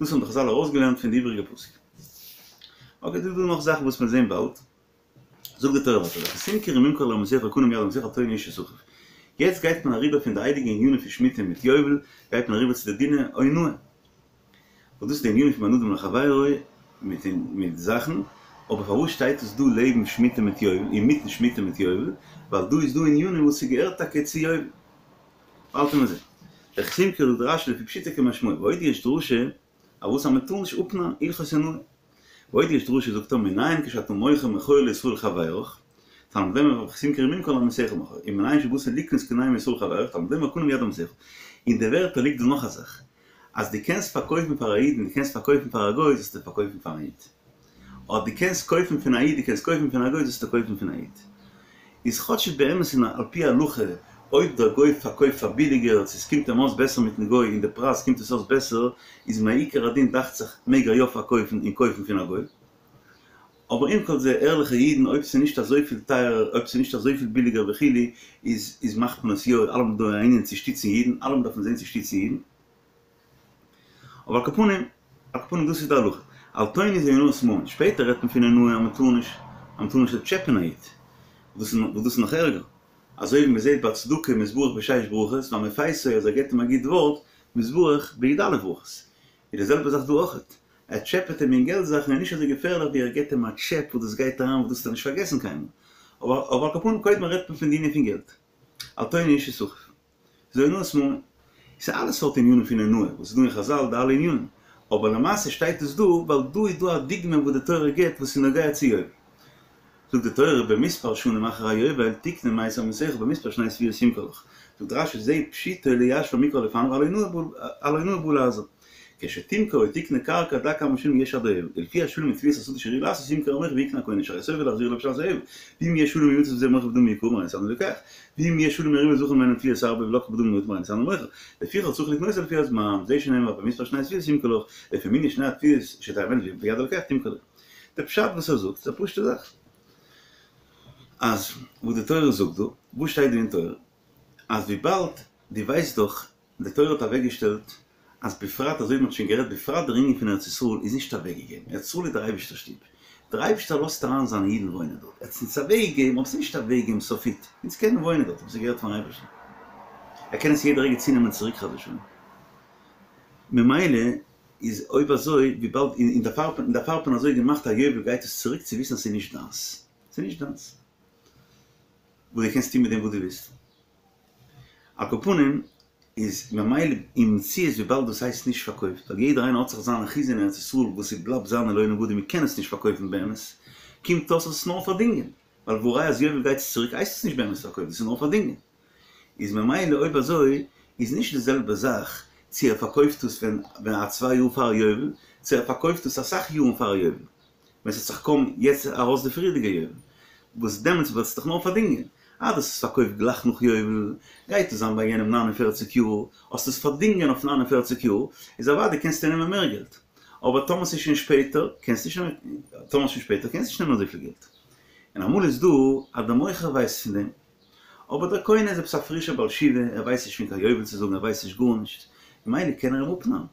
דאס האבן די חז"ל ארויסגעלערנט פון די איבעריגע פסוק. אקעי דא איז דא נאך זאכן וואס מיר זעהן באלד. זאגט די תורה ווייטער וכי תמכרו ממכר לעמיתך וקנה מיד עמיתך אל תונו איש את אחיו. יעצט גייט מען אריבער פון די הייליגע ענינים פון שמיטה מיט יובל, גייט מען אריבער צו די דיני אונאה. וואס דאס איז די ענינים פון בין אדם לחבירו מיט מיט זאכן, אבער פארוואס שטייט עס דא לעבן שמיטה מיט יובל, אינמיטן שמיטה מיט יובל, ווייל דא איז דא ענינים וואס ס'געהערט טאקע צו יובל. באלד וועט מען זען. וכי תמכרו זאגט רש"י לפי פשוטו כמשמעו, ועוד יש דרשה, אז וואס אז מ'טאר נישט אפנארן הלכות אונאה. ועוד יש דרשה זאגט ער מנין כשאתה מוכר מכור לישראל חברך, תלמוד לומר וכי תמכרו ממכר לעמיתך מכור, ומנין שבאת לקנות קונהו מישראל חברך, תלמוד לומר קנה מיד עמיתך. אין די ווערטער ליגט דא נאך א זאך, אז דו קענסט פארקויפן פאר א איד און דו קענסט פארקויפן פאר א גוי זאלסטו פארקויפן פאר א איד. אדער דו קענסט קויפן פון א איד דו קענסט קויפן פון א גוי זאלסטו קויפן פון א איד. איז כאטש באמת און על פי הלכה אויב דער גוי פארקויפט פאר ביליגער צו עס קומט אים אויס בעסער מיטן גוי און די פרייז קומט עס אויס בעסער איז מעיקר הדין דאכט זיך מעג ער יא פארקויפן און קויפן פון א גוי. אבער עם כל זה ערליכע אידן אויב ס'איז נישט אזויפיל טייערער אויב ס'איז נישט אזויפיל ביליגער וכו' איז איז מאכט מען עס יא אלעמאל דא א ענין צו שטיצן אידן אלעמאל דארף מען זען צו שטיצן אידן אבער על כל פנים על כל פנים דאס איז די הלכה אל תונו זה אונאת ממון שפעטער רעדט מען פון אונאה אז מ'טאר נישט אז מ'טאר נישט טשעפען א איד וואס דאס איז נאך ערגער אזוי ווי מ'זעט ביי צדקה מתברך בשש ברכות והמפייסו אז ער געבט אים א גוט ווארט מתברך בי"א ברכות איז די זעלבע זאך דא אויכעט ער טשעפעט אים אין געלט זאכן איז נישט אזוי געפערליך ווי ער געט אים א טשעפ וואס דאס גייט אריין וואס דאס וועט ער נישט פארגעסן קיינמאל. אבער אבער על כל פנים קודם רעדט מען פון די ענין פון געלט. אל תונו איש את אחיו. ס'איז אונאת ממון. ס'איז אלע סארט ענינים פון אונאה וואס איז דא אין חז"ל די אלע ענינים. אבער למעשה שטייט עס דא ווייל דא איז דא א דוגמא וואס די תורה גיבט וואס איז נוגע צו יובל. זאגט די תורה במספר שנים אחר היובל תקנה מאת עמיתך במספר שני תבואות ימכור לך, זאגט רש"י זה פשוטו ליישבה המקרא לפניו על אונאה בא להזהיר, כשתמכור או תקנה קרקע דע כמה שנים יש עד היובל, ולפי השנים מתבואת השדה שראוי לעשות ימכור המוכר ויקנה הקונה שהרי סופו להחזיר לו בשנת היובל, ואם יש שנים ימצא בזה מוכר בדמים יקרים הרי נתנו לוקח, ואם יש שנים מרובות וזכה ממנו תבואות הרבה ולקח בדמים מועטים הרי נתנו מוכר, לפיכך צריך לקנותו לפי הזמן, זה שנאמר במספר שני תבואות ימכור לך, לפי מנין שני התבואות שתהא עומדת ביד הלוקח תמכור לו. די פשט וואס ער זאגט איז א פשוטע זאך. אז וואס די תורה זאגט דא, וואס שטייט דא אין תורה? אז וויבאלד דו ווייסט דאך, די תורה האט אוועקגעשטעלט אז בפרט, אזוי ווי מ'האט שוין גערעדט, בפרט דער ענין פון ארץ ישראל איז נישט אוועקגעגעבן, ארץ ישראל איז דער אייבערשטער'ס שטוב, דער אייבערשטער לאזט אריין זיינע אידן וואוינען דארט, ער האט עס אונז אוועקגעגעבן, אבער עס איז נישט אוועקגעגעבן סופית, אונז קענען וואוינען דארט, אבער ס'געהערט פארן אייבערשטן, ער קען עס יעדע רגע צונעמען צוריק חס ושלום, ממילא איז אויב אזוי וויבאלד און דערפאר האט מען דערפאר האט מען אזוי געמאכט א יובל גייט עס צוריק צו וויסן אז ס'איז נישט דיינס, ס'איז נישט דיינס וואס דו קענסט טון מיט דעם וואס דו ווילסט. על כל פנים איז ממילא אין מציאות וויבאלד דאס הייסט נישט פארקויפט ווייל יעדער איינער האט זיך זיין אחיזה אין ארץ ישראל וואס ס'בלייבט זיינע לעולם ועד און מ'קען עס נישט פארקויפן באמת קומט אויס אז עס איז נאר פארדינגען ווייל והא ראיה אז יובל גייט עס צוריק הייסט עס נישט באמת פארקויפט דאס איז נאר פארדינגען. איז ממילא אויב אזוי איז נישט די זעלבע זאך צו ער פארקויפט עס ווען ווען א צוויי יאר פאר יובל, צו ער פארקויפט עס אסאך יארן פאר יובל, ווען ס'האט זיך קוים יעצט ארויס די פריערדיגע יובל, וואס דעמאלטס ווערט עס דאך נאר פארדינגען, אז דו האסט עס פארקויפט גלייך נאך יובל, גייט עס זיין ביי יענעם 49 יאר, האסט עס פארדינגען אויף 49 יאר, איז אוודאי קענסטו נעמען מער געלט, אבער טאמער ס'איז שוין שפעטער, קענסטו נישט נעמען, טאמער ס'איז שוין שפעטער קענסטו נישט נעמען אזויפיל געלט. און אמאל איז דא אז דער מוכר ווייסט פון דעם, אבער דער קונה איז עפעס א פרישער בעל תשובה, ער ווייסט נישט פון קיין יובל צו זאגן, ער ווייסט נישט גארנישט, ממילא קען ער אים אפנארן.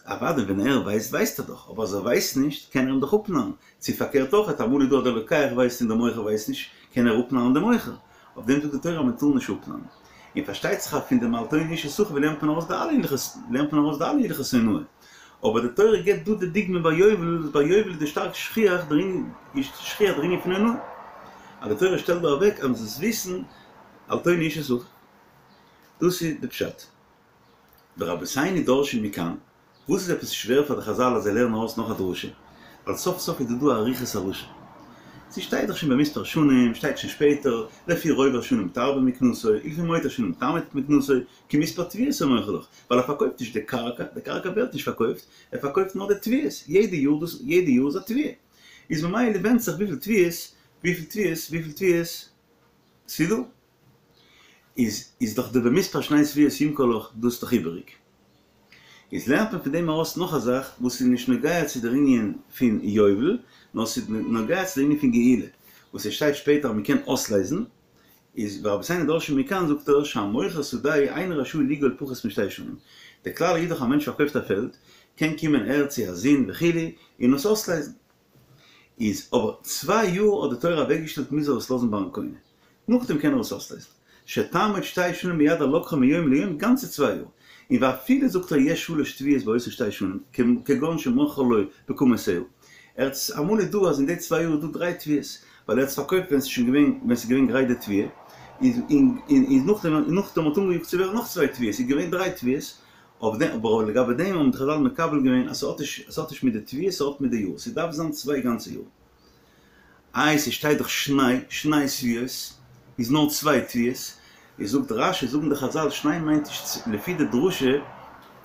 אוודאי ווען ער ווייסט ווייסט ער דאך, אבער אז ער ווייסט נישט קען ער אים דאך אפנארן, צו פארקערט אויך, אמאל איז דא אז דער לוקח ווייסט און דער מוכר ווייסט נישט, קען ער אפנארן דעם מוכר. אויף דעם זאגט די תורה אז מען טאר נישט אפנארן. און פארשטייט זיך אז פון דעם אל תונו איש את אחיו לערנט מען ארויס די אלע הלכות, לערנט מען ארויס די אלע הלכות הונאה. אבער די תורה גיבט דא די דוגמא ביי יובל, וואס ביי יובל איז די שטארק שכיח דער ענין, איז שכיח דער ענין פון הונאה. אז די תורה שטעלט דא אוועק אז מען זאל עס וויסן, אל תונו איש את אחיו. דאס איז די פשט. ורבותינו דורשין מכאן, וואס איז עפעס שווער פאר די חזל אז זיי לערנען ארויס נאך א דרשה? ווייל סוף סוף איז דא דא א אריכות הלשון. ס'שטייט דאך שוין במספר שנים, שטייט שוין שפעטער, לפי רוב השנים תרבה מקנתו, ולפי מועט השנים תמעיט מקנתו, כמספר תבואות הוא מוכר לך, ווייל ער פארקויפט נישט די קרקע, די קרקע ווערט נישט פארקויפט, ער פארקויפט נאר די תבואות, יעדע יאר דאס, יעדע יאר איז א תבואה. איז ממילא ווענדט זיך וויפיל תבואות, וויפיל תבואות, וויפיל תבואות ס'איז דא. איז איז דאך די במספר שני תבואות ימכור לך דאס דאך איבעריג. איז לערנט מען פון דעם ארויס נאך א זאך וואס איז נישט נוגע צו דער ענין פון יובל, נאר ס'איז נוגע צו דער ענין פון גאולה, וואס עס שטייט שפעטער אז מ'קען אויסלייזן, איז ורבותינו דורשין מכאן זאגט ער שהמוכר שדהו אינו רשאי לגאול פחות משתי שנים, דער כלל איז דאך א מענטש פארקויפט א פעלד, קען קומען ער צו א זון וכו' און עס אויסלייזן. איז אבער צוויי יאר האט די תורה אוועקגעשטעלט מוז ער עס לאזן ביים קונה, נאכדעם קען ער עס אויסלייזן, שתעמוד שתי שנים ביד הלוקחו מיום ליום גאנצע צוויי יאר, און ואפילו זאגט ער יש שלש תבואות באותו שתי שנים, כגון שמכרה לו בקמה סאה, ער האט עס אמאל איז דא אז אין די צוויי יאר איז דא דריי תבואות, ווייל ער האט עס פארקויפט ווען עס איז שוין געווען ווען עס איז געווען גרייט די תבואה, איז און נאכדעם און נאכדעם האט אנגעיאגט צו ווערן נאך צוויי תבואות איז געווען דריי תבואות, אויף דעם, אבער לגבי דעם האבן די חזל מקבל געווען אז ס'האט נישט, ס'האט נישט מיט די תבואה, ס'האט מיט די יאר, ס'דארף זיין צוויי גאנצע יאר. איי ס'שטייט דאך שני, שני תבואות, איז נאר צוויי תבואות, איז זאגט רש"י, זאגן די חזל שני מיינט נישט לפי די דרשה,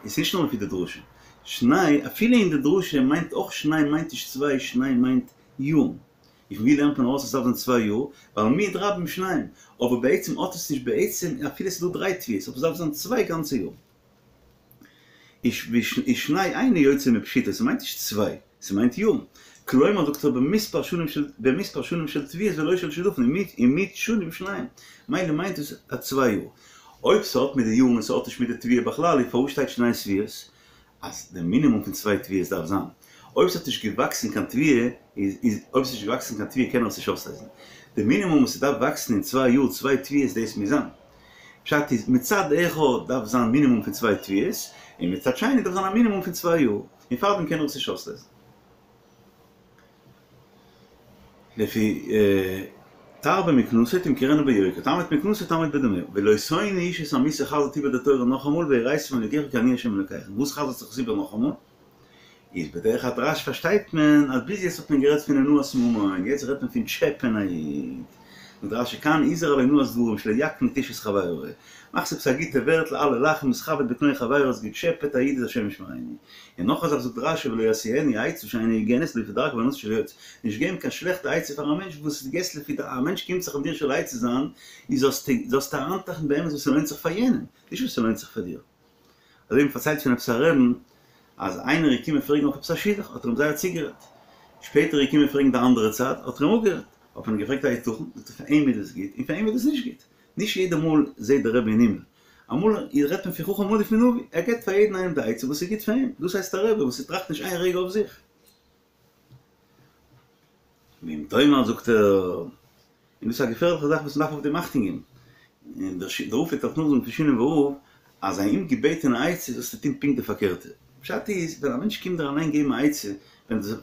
איז נישט נאר לפי די דרשה, שני, אפילו אין די דרשה מיינט אויך שני מיינט נישט צוויי, שני מיינט יארן. און פון ווי לערנט מען ארויס אז ס'דארף זיין צוויי יאר? ווייל מיעוט רבים שניים. אבער בעצם האט עס נישט בעצם אפילו ס'איז דא דריי תבואות אבער ס'דארף זיין צוויי גאנצע יאר. איז שני אינו יוצא מפשיטא ס'מיינט נישט צוויי ס'מיינט יארן. כלומר זאגט ער במספר שנים של במספר שנים של תבואות ולא של שדפון און מיעוט שנים שניים. מילא מיינט עס א צוויי יאר. אויב ס'האט מיט די יארן און ס'האט נישט מיט די תבואה בכלל איז פארוואס שטייט שני תבואות? אז די מינימום פון צוויי תבואות דארף זיין, אויב ס'האט נישט געוואקסן קיין תבואה, איז איז אויב ס'נישט געוואקסן קיין תבואה קען ער עס נישט אויסלייזן. די מינימום וואס ס'דארף וואקסן אין צוויי יאר צוויי תבואות דאס מוז זיין. פשט איז, מצד אחד דארף זיין מינימום פון צוויי תבואות, און מצד שני דארף זיין א מינימום פון צוויי יאר, און פארדעם קען ער עס נישט אויסלייזן. לפי תרבה מקנתו תמכרנו ביוקר, תמעיט מקנתו תעמוד בדמיה, ולא תונו איש את עמיתו חזר'ט איבער די תורה נאכאמאל ויראת מאלקיך כי אני ה' אלקיכם, וואס חזר'ט זיך עס איבער נאכאמאל? איז בדרך הדרש פארשטייט מען אז ביז יעצט האט מען גערעדט פון אונאת ממון, יעצט רעדט מען פון טשעפען א איד, זאגט רש"י כאן הזהיר על אונאת דברים שלא יקניט איש את חברו, מאכסט עפעס א גוטע ווערטל אלע לאכן מתכבד בקלון חברו האסט געטשעפעט א איד איז השם ישמרינו. און נאך א זאך זאגט רש"י ולא ישיאנו עצה שאינה הוגנת לפי דרכו והבנתו של יועץ, נישט געבן קיין שלעכטע עצה פאר א מענטש וואס דו געסט לפי די א מענטש קומט זיך מיט דיר שואל עצה זיין איז זאלסטו זאלסטו אריינטראכטן באמת וואס ס'לוינט זיך פאר יענעם, נישט וואס ס'לוינט זיך פאר דיר. אזוי ווי מ'פארציילט פון עפעס א רעבן אז איינער איז געקומען פרעגן אויף עפעס א שידוך האט ער אים זייער צוגערעדט, שפעטער איז געקומען פרעגן די אנדערע צד האט ער אים אפגערעדט, האט מען אים געפרעגט היתכן, זאגט ער פאר אים איז עס גוט און פאר אים איז עס נישט גוט, נישט יעדע מאל זעט דער רבי אין הימל, אמאל רעדט מען פון חכם עדיף מנביא, ער געבט פאר יעדן איינעם די עצה וואס איז גוט פאר אים, דאס הייסט א רבי וואס ער טראכט נישט איין רגע אויף זיך. ואם תאמר זאגט ער, און דאס איז א געפערליכע זאך וואס מען דארף אויף דעם אכטונג געבן, און דער רב פלעגט אלס נאכזאגן פון שינאווער רב, אז א אומגעבעטענע עצה זאלסטו טון פונקט די פארקערטע. פשט איז, ווען א מענטש קומט דיר אליין געבן א עצה, ווען דו ווען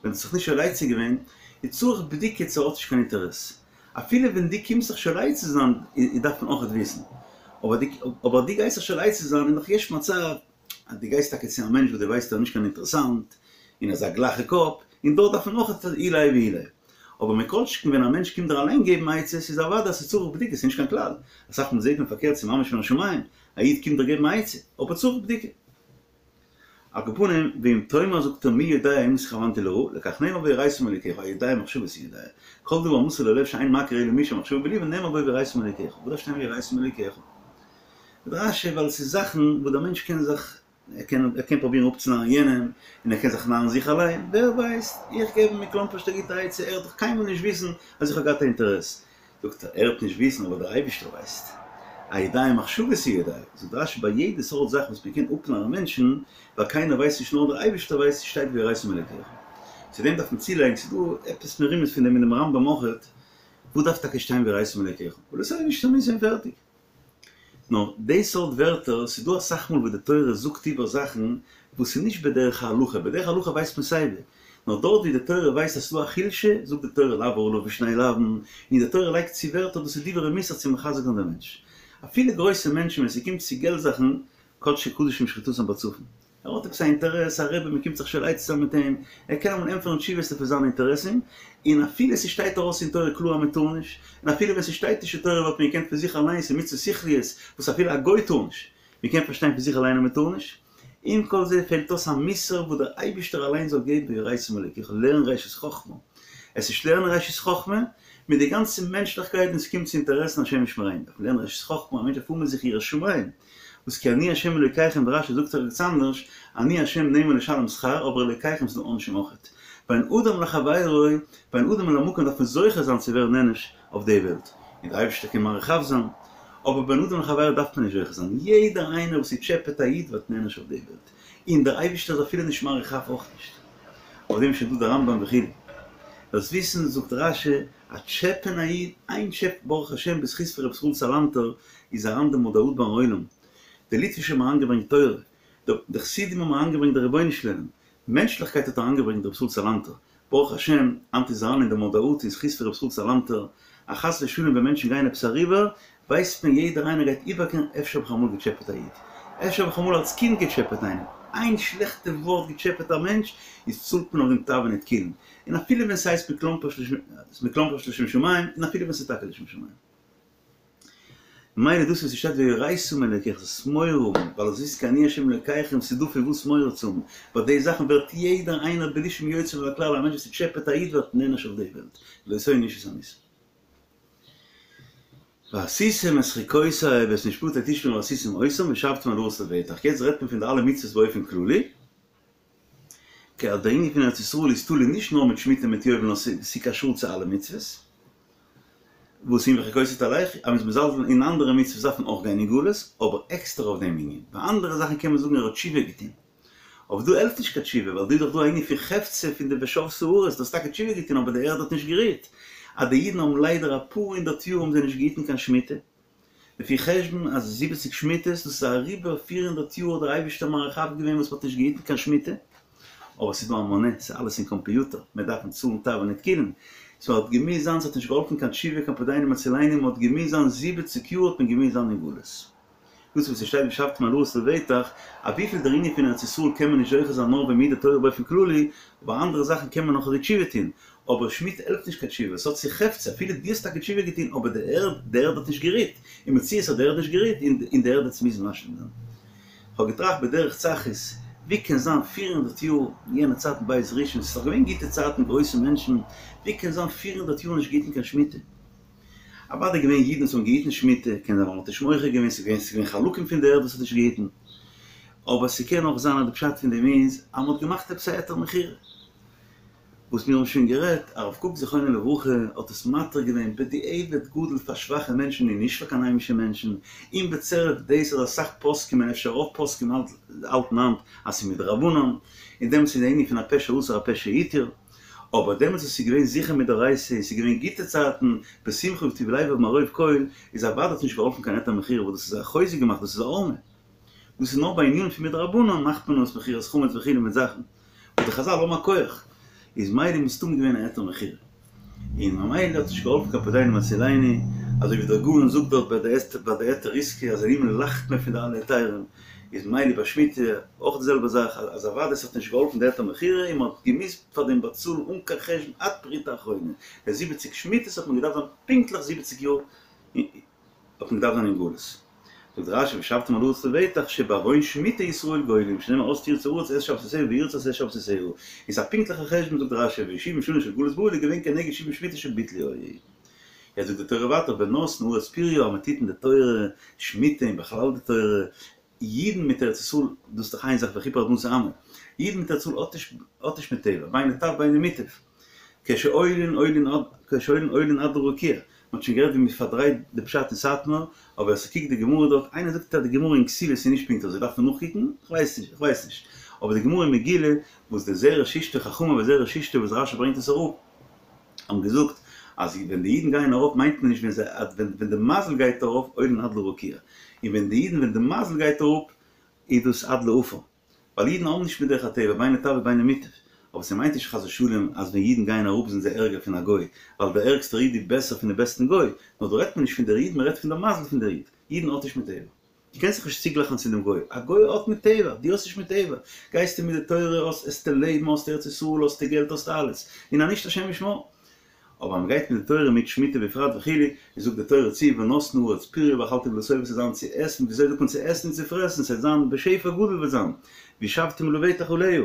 דו האסט זיך נישט שואל עצה געווען, איז צריך בדיקה צו ער האט נישט קיין אינטערעס. אפילו ווען דו קומסט זיך שואל עצה זיין, איז דארף מען אויכעט וויסן. אבער דו אבער דו גייסט זיך שואל עצה זיין איז נאך יש מצב אז דו גייסט טאקע צו א מענטש וואס דו ווייסט ער איז נישט קיין אינטערעסאנט, און ער איז א גלייכע קאפ, און דארט דארף מען אויכעט אילי ואילי. אבער מכל שכן ווען א מענטש קומט דיר אליין געבן עצות איז אוודאי אז ס'איז צריך בדיקה, ס'איז נישט קיין כלל. אסאך מאל זעט מען פארקערט ס'איז ממש מן השמים, א איד קומט דיר געבן א עצה, אבער צריך בדיקה. על כל פנים, ואם תאמר זאגט ער מי יודע אם התכוונתי לרעה, לכך נאמר בו ויראת מאלקיך, היודע מחשבות הוא יודע. כל דבר המסור ללב שאין מכיר אלא מי שמחשבה בליבו נאמר בו ויראת מאלקיך. וואס דארף שטיין ויראת מאלקיך? זאגט רש"י ווייל ס'איז זאכן וואס דער מענטש קען זיך, ער קען ער קען פרובירן אפצונארן יענעם, און ער קען זיך נארן זיך אליין, ווער ווייסט, איך געב אים מכלומפערשט א גוטע עצה, ער וועט דאך קיינמאל נישט וויסן אז איך האב געהאט א אינטערעס. זאגט ער, ער וועט נישט וויסן אבער דער אייבערשטער ווייסט. היודע מחשבות הוא יודע, זאגט רשי ביי יעדע סארט זאך וואס מען קען אפנארן מענטשן, ווייל קיינער ווייסט נישט נאר דער אייבערשטער ווייסט, שטייט ויראת מאלקיך. צו דעם דארף מען צולייגן, ס'איז דא עפעס מרומז פון דעם אינעם רמב"ם אויכעט, וואס דארף טאקע שטיין ויראת מאלקיך? ולא תונו איש את עמיתו און פערטיג. נאר די סארט ווערטער, ס'איז דא אסאך מאל וואס די תורה זאגט איבער זאכן וואס איז נישט בדרך ההלכה, בדרך הלכה ווייסט מען סייווי, נאר דארט ווי די תורה ווייסט אז ס'איז דא א חולשה, זאגט די תורה לעבור עליו בשני לאווין, און די תורה לייגט צו ווערטער דאס איז דברי מוסר צו מחזק זיין דעם מענטש. אפילו גרויסע מענטשן ווען ס'קומט צו געלט זאכן, קדשי קדשים שחיטתם בצפון. ער האט עפעס א אינטערעס, א רבי, מ'קומט זיך שואל עצה זיין מיט אים, ער קען אמאל ענטפערן תשובות לפי זיינע אינטערעסן, און אפילו ס'שטייט ארויס אין תורה קלאר אז מ'טאר נישט, און אפילו ווען ס'שטייט נישט אין תורה וואלט מען געקענט פון זיך אליינס אין מצוות שכליות וואס אפילו א גוי טאר נישט, מ'קען פארשטיין פון זיך אליין אז מ'טאר נישט. עם כל זה פעלט אויס א מוסר וואס דער אייבישטער אליין זאל געבן ויראת מאלקיך, לערן ראשית חכמה. עס איז לערנען ראשית חכמה מיט די גאנצע מענטשליכקייט ווען ס'קומט צו אינטערעסן השם ישמרינו, דארף מען לערנען ראשית חכמה, א מענטש דארף האבן אין זיך יראת שמים, וואס כי אני ה' אלוקיכם ווי רש"י זאגט ערגעץ אנדערש, אני ה' נאמן לשלם שכר, אבער אלוקיכם ס'דא עונשים אויכעט. בין אדם לחבירו, בין אדם למקום דארף מען זוכה זיין צו ווערן נענש אויף די וועלט, און דער אייבערשטער קען מאריך אף זיין, אבער בין אדם לחבירו דארף מען נישט זוכה זיין, יעדער איינער וואס ס'טשעפעט א איד ווערט נענש אויף די וועלט, און דער אייבערשטער איז אפילו נישט מאריך אף אויך נישט. אויף דעם איז שוין דא דער רמב"ם וכו'. דארפסט וויסן זאגט רש"י, א טשעפען א איד, איין טשעפ ברוך השם בזכות פון ר' ישראל סאלאנטער איז אריין די מודעות ביים עולם, די ליטווישע האבן אריינגעברענגט תורה, די חסידים האבן אריינגעברענגט די רבונו של עולם, מענטשליכקייט האט אריינגעברענגט ר' ישראל סאלאנטער, ברוך השם היינט איז אריין אין די מודעות אין זכות פון ר' ישראל סאלאנטער, אז חס ושלום ווען מענטשן גייען עפעס אריבער, ווייסט מען יעדער איינער גייט איבערקערן אפשר האב איך אמאל געטשעפעט א איד, אפשר האב איך אמאל אלס קינד געטשעפעט איינעם, איין שלעכטע ווארט געטשעפעט א מענטש איז צאלט מען אויף דעם תבעין ותקילין, און אפילו ווען ס'הייסט מכלומרשט לשם שמים, און אפילו ווען ס'איז טאקע לשם שמים. ממילא דאס וואס ס'שטייט ויראת מאלקיך זאלסט מורא האבן, ווייל עס איז כי אני ה' אלקיכם ס'איז דא פון וואס מורא צו האבן, ביי די זאכן ווערט יעדער איינער בלי שום יוצא מן הכלל, א מענטש וואס טשעפעט א איד ווערט נענש אויף די וועלט, לא תונו איש את עמיתו. ועשיתם את חוקותי ואת משפטי תשמרו ועשיתם אותם ושבתם אל הארץ לבטח, יעצט רעדט מען פון די אלע מצוות באופן כללי, כי אז דער ענין פון ארץ ישראל איז תלוי נישט נאר מיט שמיטה מיט יובל נאר ס'איז קשור צו אלע מצוות, וואס אם בחוקותי תלכו, אז מ'איז מזלזל אין אנדערע מצוות דארף מען אויך גיין אין גלות, אבער עקסטער אויף דעם ענין, ביי אנדערע זאכן קען מען זאגן ער האט תשובה געטון, אבער דא העלפט נישט קיין תשובה, ווייל דא איז דאך דא א ענין פון חפצא פון די ושבתה הארץ, דו האסט טאקע תשובה געטון אבער די ערד האט נישט גערוהט, אז די אידן האבן ליידער אפאר הונדערט יאר האבן זיי נישט געהיטן קיין שמיטה, לפי חשבון אז זיבעציג שמיטות, דאס איז אריבער פיר הונדערט יאר האט דער אייבערשטער מאריך אף געווען וואס מ'האט נישט געהיטן קיין שמיטה, אבער ס'איז דא א מנה, ס'איז אלעס אין קאמפיוטער, מען דארף צאלן תבעין ותקילין, סאו האט געמוזט זיין, ס'האט נישט געהאלפן קיין תשובה קיין פודינו מצילנו, מ'האט געמוזט זיין זיבעציג יאר האט מען געמוזט זיין אין גלות. דאס וואס ס'שטייט ושבתם אל הארץ לבטח, אויף וויפיל דער ענין פון ארץ ישראל קען מען נישט זוכה זיין נאר ווען מ'היט די תורה באופן כללי, אבער אנדערע זאכן קען מען נאך אזוי תשובה טון, אבער שמיטה העלפט נישט קיין תשובה, ס'האט צו חפצא, אפילו דו האסט טאקע תשובה געטון אבער די ערד, די ערד האט נישט גערוהט, אין מציאות האט די ערד נישט גערוהט און די ערד וועט עס מוזן משלים זיין. כ'האב געטראכט בדרך צחות, ווי קען זיין פיר הונדערט יאר, יענע צייטן בית ראשון, ס'איז דאך געווען גוטע צייטן, גרויסע מענטשן, ווי קען זיין פיר הונדערט יאר נישט געהיטן קיין שמיטה? אוודאי געווען אידן וואס האבן געהיטן שמיטה, קען זיין ווייל מ'האט נישט מוחה געווען, ס'איז געווען ס'איז געווען חלקים פון די ערד וואס האט נישט געהיטן, אבער ס'קען אויך זיין אז די פשט פון דעם איז אז מ'האט געמאכט עפעס א היתר מכירה. וואס מיר האבן שוין גערעדט, הרב קוק זכרונו לברכה האט עס מתיר געווען בדיעבד גדול פאר שוואכע מענטשן און נישט פאר קיין היימישע מענטשן, און בצירוף דאס אז אסאך פוסקים און אפשר רוב פוסקים האלטן היינט אז ס'איז מדרבנן, און דעמאלטס איז די ענין פון הפה שאסר הפה שהתיר. אבער דעמאלטס וואס ס'איז געווען זיכער מדאורייתא און ס'איז געווען גוטע צייטן, בשמחה ובטוב לבב מרוב כל, איז אוודאי האט נישט געהאלפן קיין היתר מכירה וואס דאס איז א חוזק געמאכט דאס איז א ערמה. דאס איז נאר ביי ענינים פון מדרבנן מאכט מען אויס מכירת חמץ וכו' מיט זאכן וואס די חזל האבן א כח, איז מילא מסתם געווען א היתר מכירה. און ממילא האט נישט געהאלפן קיין פודינו מצילנו, אזוי ווי דער גאון זאגט דארט ביי די ביי די היתר עסקה אז אין הימל לאכט מען פון די אלע היתרים, איז מילא ביי שמיטה אויך די זעלבע זאך, אז אוודאי ס'האט נישט געהאלפן די היתר מכירה און מ'האט געמוזט פאר דעם באצאלן אן קיין חשבון עד פרוטה אחרונה, די זיבעציג שמיטות האט מען געדארפט זיין פונקטליך זיבעציג יאר האט מען געדארפט זיין אין גלות. זאגט רשי ושבתם אל הארץ לבטח שבעוון שמיטה ישראל גולים שנאמר אז תרצה הארץ את שבתותיה וירצו את שבתותיה איז א פונקטליכע חשבון זאגט רשי ושבעים שנה של גלות בבל איז געווען כנגד שבעים שמיטה שביטלו. יעצט זאגט די תורה ווייטער ונתנה הארץ פריה אז מען טוט אין די תורה שמיטה און בכלל די תורה אידן מיט ארץ ישראל דאס איז דאך איין זאך וכפר אדמתו עמו אידן מיט ארץ ישראל האט נישט האט נישט מיט טבע בין לטב בין למוטב כשעולין עולין עד כשעולין עולין עד לרקיע. מ'האט שוין גערעדט ווי מ'פארדרייט די פשט אין סאטמאר, אבער ווער ס'קוקט די גמרא דארט, איינער זאגט אז די גמרא אין כתובות איז נישט פונקט אזוי, דארף מען נאכקוקן? כ'ווייס נישט, כ'ווייס נישט. אבער די גמרא אין מגילה, וואס די זרש אשתו חכמים וזרש אשתו וואס רשי ברענגט עס אראפ, האבן געזאגט אז ווען די אידן גייען ארויף מיינט מען נישט ווען זיי ווען די מזל גייט ארויף עולין עד לרקיע, און ווען די אידן ווען די מזל גייט אראפ איז דאס עד לעפר. ווייל אידן האבן נישט מדרך הטבע, בין לטב ובין למוטב. אבער ס'מיינט נישט חס ושלום אז ווען אידן גייען אראפ זענען זיי ערגער פון א גוי, ווייל דער ערגסטער איד איז בעסער פון דעם בעסטן גוי, נאר דא רעדט מען נישט פון דער איד, מ'רעדט פון דער מזל פון דער איד. אידן האט נישט מיט טבע. דו קענסט זיך נישט צוגלייכן צו דעם גוי. א גוי האט מיט טבע, דו האסט נישט מיט טבע. גייסטו מיט די תורה, האסט עסטו לעבן, האסט ארץ ישראל, האסטו געלט, האסטו אלעס. און אז נישט השם ישמור. אבער אז מ'גייט מיט די תורה מיט שמיטה בפרט וכו', איז זאגט די תורה צו ונתנה הארץ פריה ואכלתם לשובע ס'וועט זיין צו עסן, וויאזוי זאגט מען צו עסן און צו פרעסן, ס'וועט זיין בשפע גדול וועט זיין, וישבתם לבטח עליה,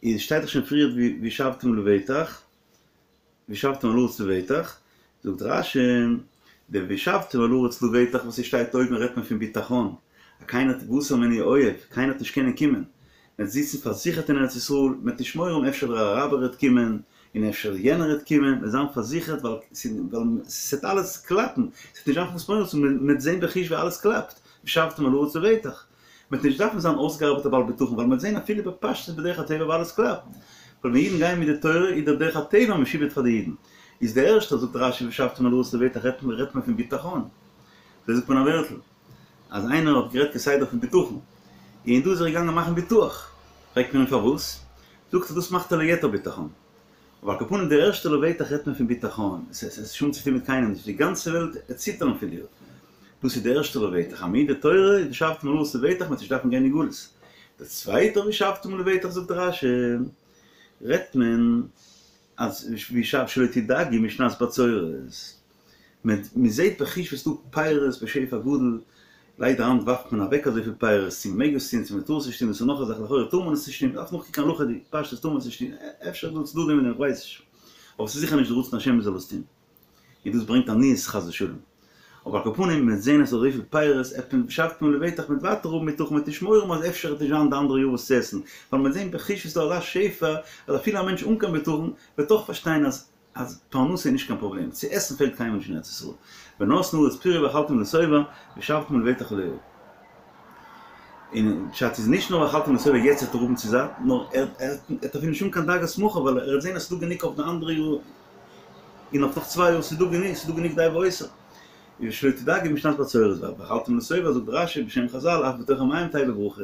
איז שטייט דאך שוין פריערט וישבתם לבטח, וישבתם על הארץ לבטח, זאגט רש"י, די וישבתם על הארץ לבטח וואס ס'שטייט אויבן רעדט מען פון ביטחון, אז קיינער והסר ממנו אויב, קיינער וועט נישט קענען קומען, מ'וועט זיצן פארזיכערט אין ארץ ישראל, מ'וועט נישט מורא האבן אפשר דער אראבער וועט קומען, און אפשר יענער וועט קומען, מ'וועט זיין פארזיכערט ווייל ס'וועט אלעס קלאפן, ס'וועט נישט זיין פון וואס מורא צו האבן, מ'וועט זען בחוש ווי אלעס קלאפט, וישבתם על הארץ לבטח. מ'וועט נישט דארפן זיין אויסגעארבעטע בעל בטחון ווייל מ'וועט זען אפילו בפשטות בדרך הטבע ווי אלעס קלאפט. ווייל ווען אידן גייען מיט די תורה איז דער דרך הטבע משועבד פאר די אידן. איז דער ערשטער זאגט רש"י וישבתם על הארץ לבטח רעדט מען פון בטחון. אזוי זאגט מען א ווערטל. אז איינער האט גערעדט כסדר פון בטחון, און דא איז ער געגאנגען מאכן ביטוח, פרעגט מען אים פארוואס, זאגט ער דאס מאכט ער ליתר בטחון. אבער על כל פנים די ערשטע לבטח רעדט מען פון בטחון, עס האט שוין צוטון מיט קיינעם נישט, די גאנצע וועלט עט ציטערן פון דיר, דאס איז די ערשטע לבטח, אז מיט די תורה איז וישבתם על הארץ לבטח, מ'וועט נישט דארפן גיין אין גלות. די צווייטע וישבתם לבטח זאגט רש"י, רעדט מען אז וישב שלא תדאגו משנת בצורת. מען זעט בחוש וואס ס'דא פירות בשפע גדול, ליידער היינט ווארפט מען אוועק אזויפיל פירות, צו מען מעג עס טון צו מען טאר עס נישט טון דאס איז נאך א זאך, לכאורה טאר מען עס נישט טון, מען דארף נאכקוקן הלכה'דיג, פשטות טאר מען עס נישט טון, אפשר איז דא צדדים אין דעם איך ווייס נישט, אבער ס'איז זיכער נישט די רצון השם מען זאל עס טון, און דאס ברענגט עניות חס ושלום. אבער על כל פנים, מען וועט זען אז ס'איז אזויפיל פירות, עט מען וישבתם לבטח מ'וועט ווייטער האבן בטחון מ'וועט נישט מורא האבן אז אפשר וועט נישט זיין די אנדערע יאר וואס צו עסן, ווייל מען וועט זען בחוש ווי ס'איז דא אזא שפע, אז אפילו א מענטש אן קיין בטחון וועט אויך פארשטיין אז אז פרנסה איז נישט קיין פראבלעם, צו עסן פעלט קיינעם נישט אין ארץ ישראל, ונתנה הארץ פריה ואכלתם לשובע, וישבתם לבטח עליה. און פשט איז נישט נאר ואכלתם לשובע יעצט וועט ער האבן צו זאט, נאר ער וועט אפילו נישט האבן קיין דאגות מחר ווייל ער וועט זען אז ס'איז דא גענוג אויף די אנדערע יאר און אויף נאך צוויי יאר, ס'איז דא גענוג, ס'איז דא גענוג די והותר. ושלא תדאגו משנת בצורת, ואכלתם לשובע זאגט רש"י בשם חז"ל אף בתוך המים תהא בו ברכה.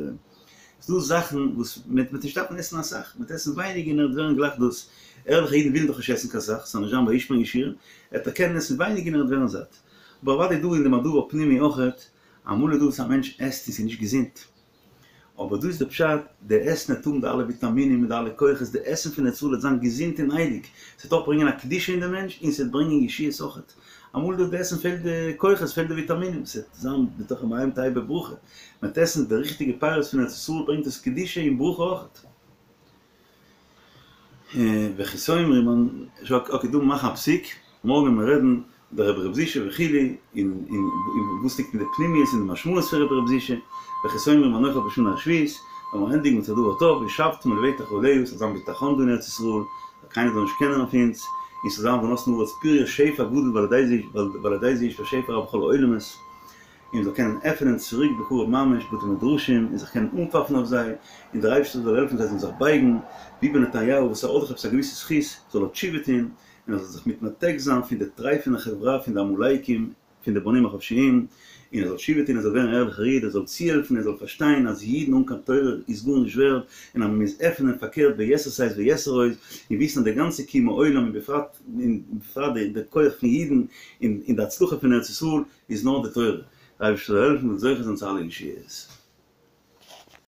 ס'דא זאכן וואס מען וועט נישט דארפן עסן אסאך, מען וועט עסן ווייניג און ער וועט ווערן גלייך דאס, ערליכע אידן ווילן דאך נישט עסן קיין סאך, ס'זאל נישט זיין וישמן ישורון, ער וועט קענען עסן ווייניג און ער וועט ווערן זאט. אבער אוודאי דא אין דעם א דבר פנימי אויכעט, אמאל איז דא וואס א מענטש עסט און ס'איז נישט געזונט, אבער דא איז די פשט, די עסן וועט האבן די אלע וויטאמינען מיט די אלע כוחות, די עסן פון ארץ ישראל וועט זיין געזונט און הייליג, ס'וועט אויך ברענגען א קדושה אין די מענטש און ס'וועט ברענגען ישועות אויכעט. אמאל דא די עסן פעלט די כוחות, פעלט די וויטאמינען, ס'וועט זיין בתוך המים תהא בו ברכה, מ'וועט עסן די ריכטיגע פירות פון ארץ ישראל ברענגט עס קדושה און ברכה אויכעט. וכי תאמרו מאן, אקעי דא מאכן א פסיק, מארגן וועלן מיר רעדן דער רבי ר' זישע וכו', און און וואס ליגט אין די פנימיות און די משמעות פון רבי ר' זישע, וכי תאמרו מה נאכל בשנה השביעית, וועלן מיר ענדיגן מיט א דבר טוב, וישבתם לבטח עליה, ס'זאל זיין בטחון דא אין ארץ ישראל, זאל קיינער זאל נישט קענען אויף אונז, און ס'זאל זיין ונתנה הארץ פריה שפע גדול ועל ידי זה יושפע שפע רב בכל העולמות, און מ'זאל קענען עפענען צוריק בקרוב ממש בתי מדרשים און זיך קענען אנפאפן אויף זיי, און דער אייבערשטער זאל העלפן זיי זאלן זיך בייגן, ביבי נתניהו וואס ער האט דאך עפעס א געוויסע זכות, זאל ער תשובה טון, און ער זאל זיך מתנתק זיין פון די טרייפענע חברה פון די עמלקים, פון די בונים החופשיים, און ער זאל תשובה טון ער זאל ווערן א ערליכער איד, ער זאל צוהעלפן ער זאל פארשטיין אז אידן אן קיין תורה איז גארנישט ווערד, און אז מען מוז עפענען פארקערט ביתר שאת ויתר עוז, און וויסן אז די גאנצע קיום העולם און בפרט און בפרט די כח פון אידן און די הצלחה פון ארץ ישראל איז נאר די תורה. דער אייבערשטער זאל העלפן מ'זאל זוכה זיין צו אלע ישועות.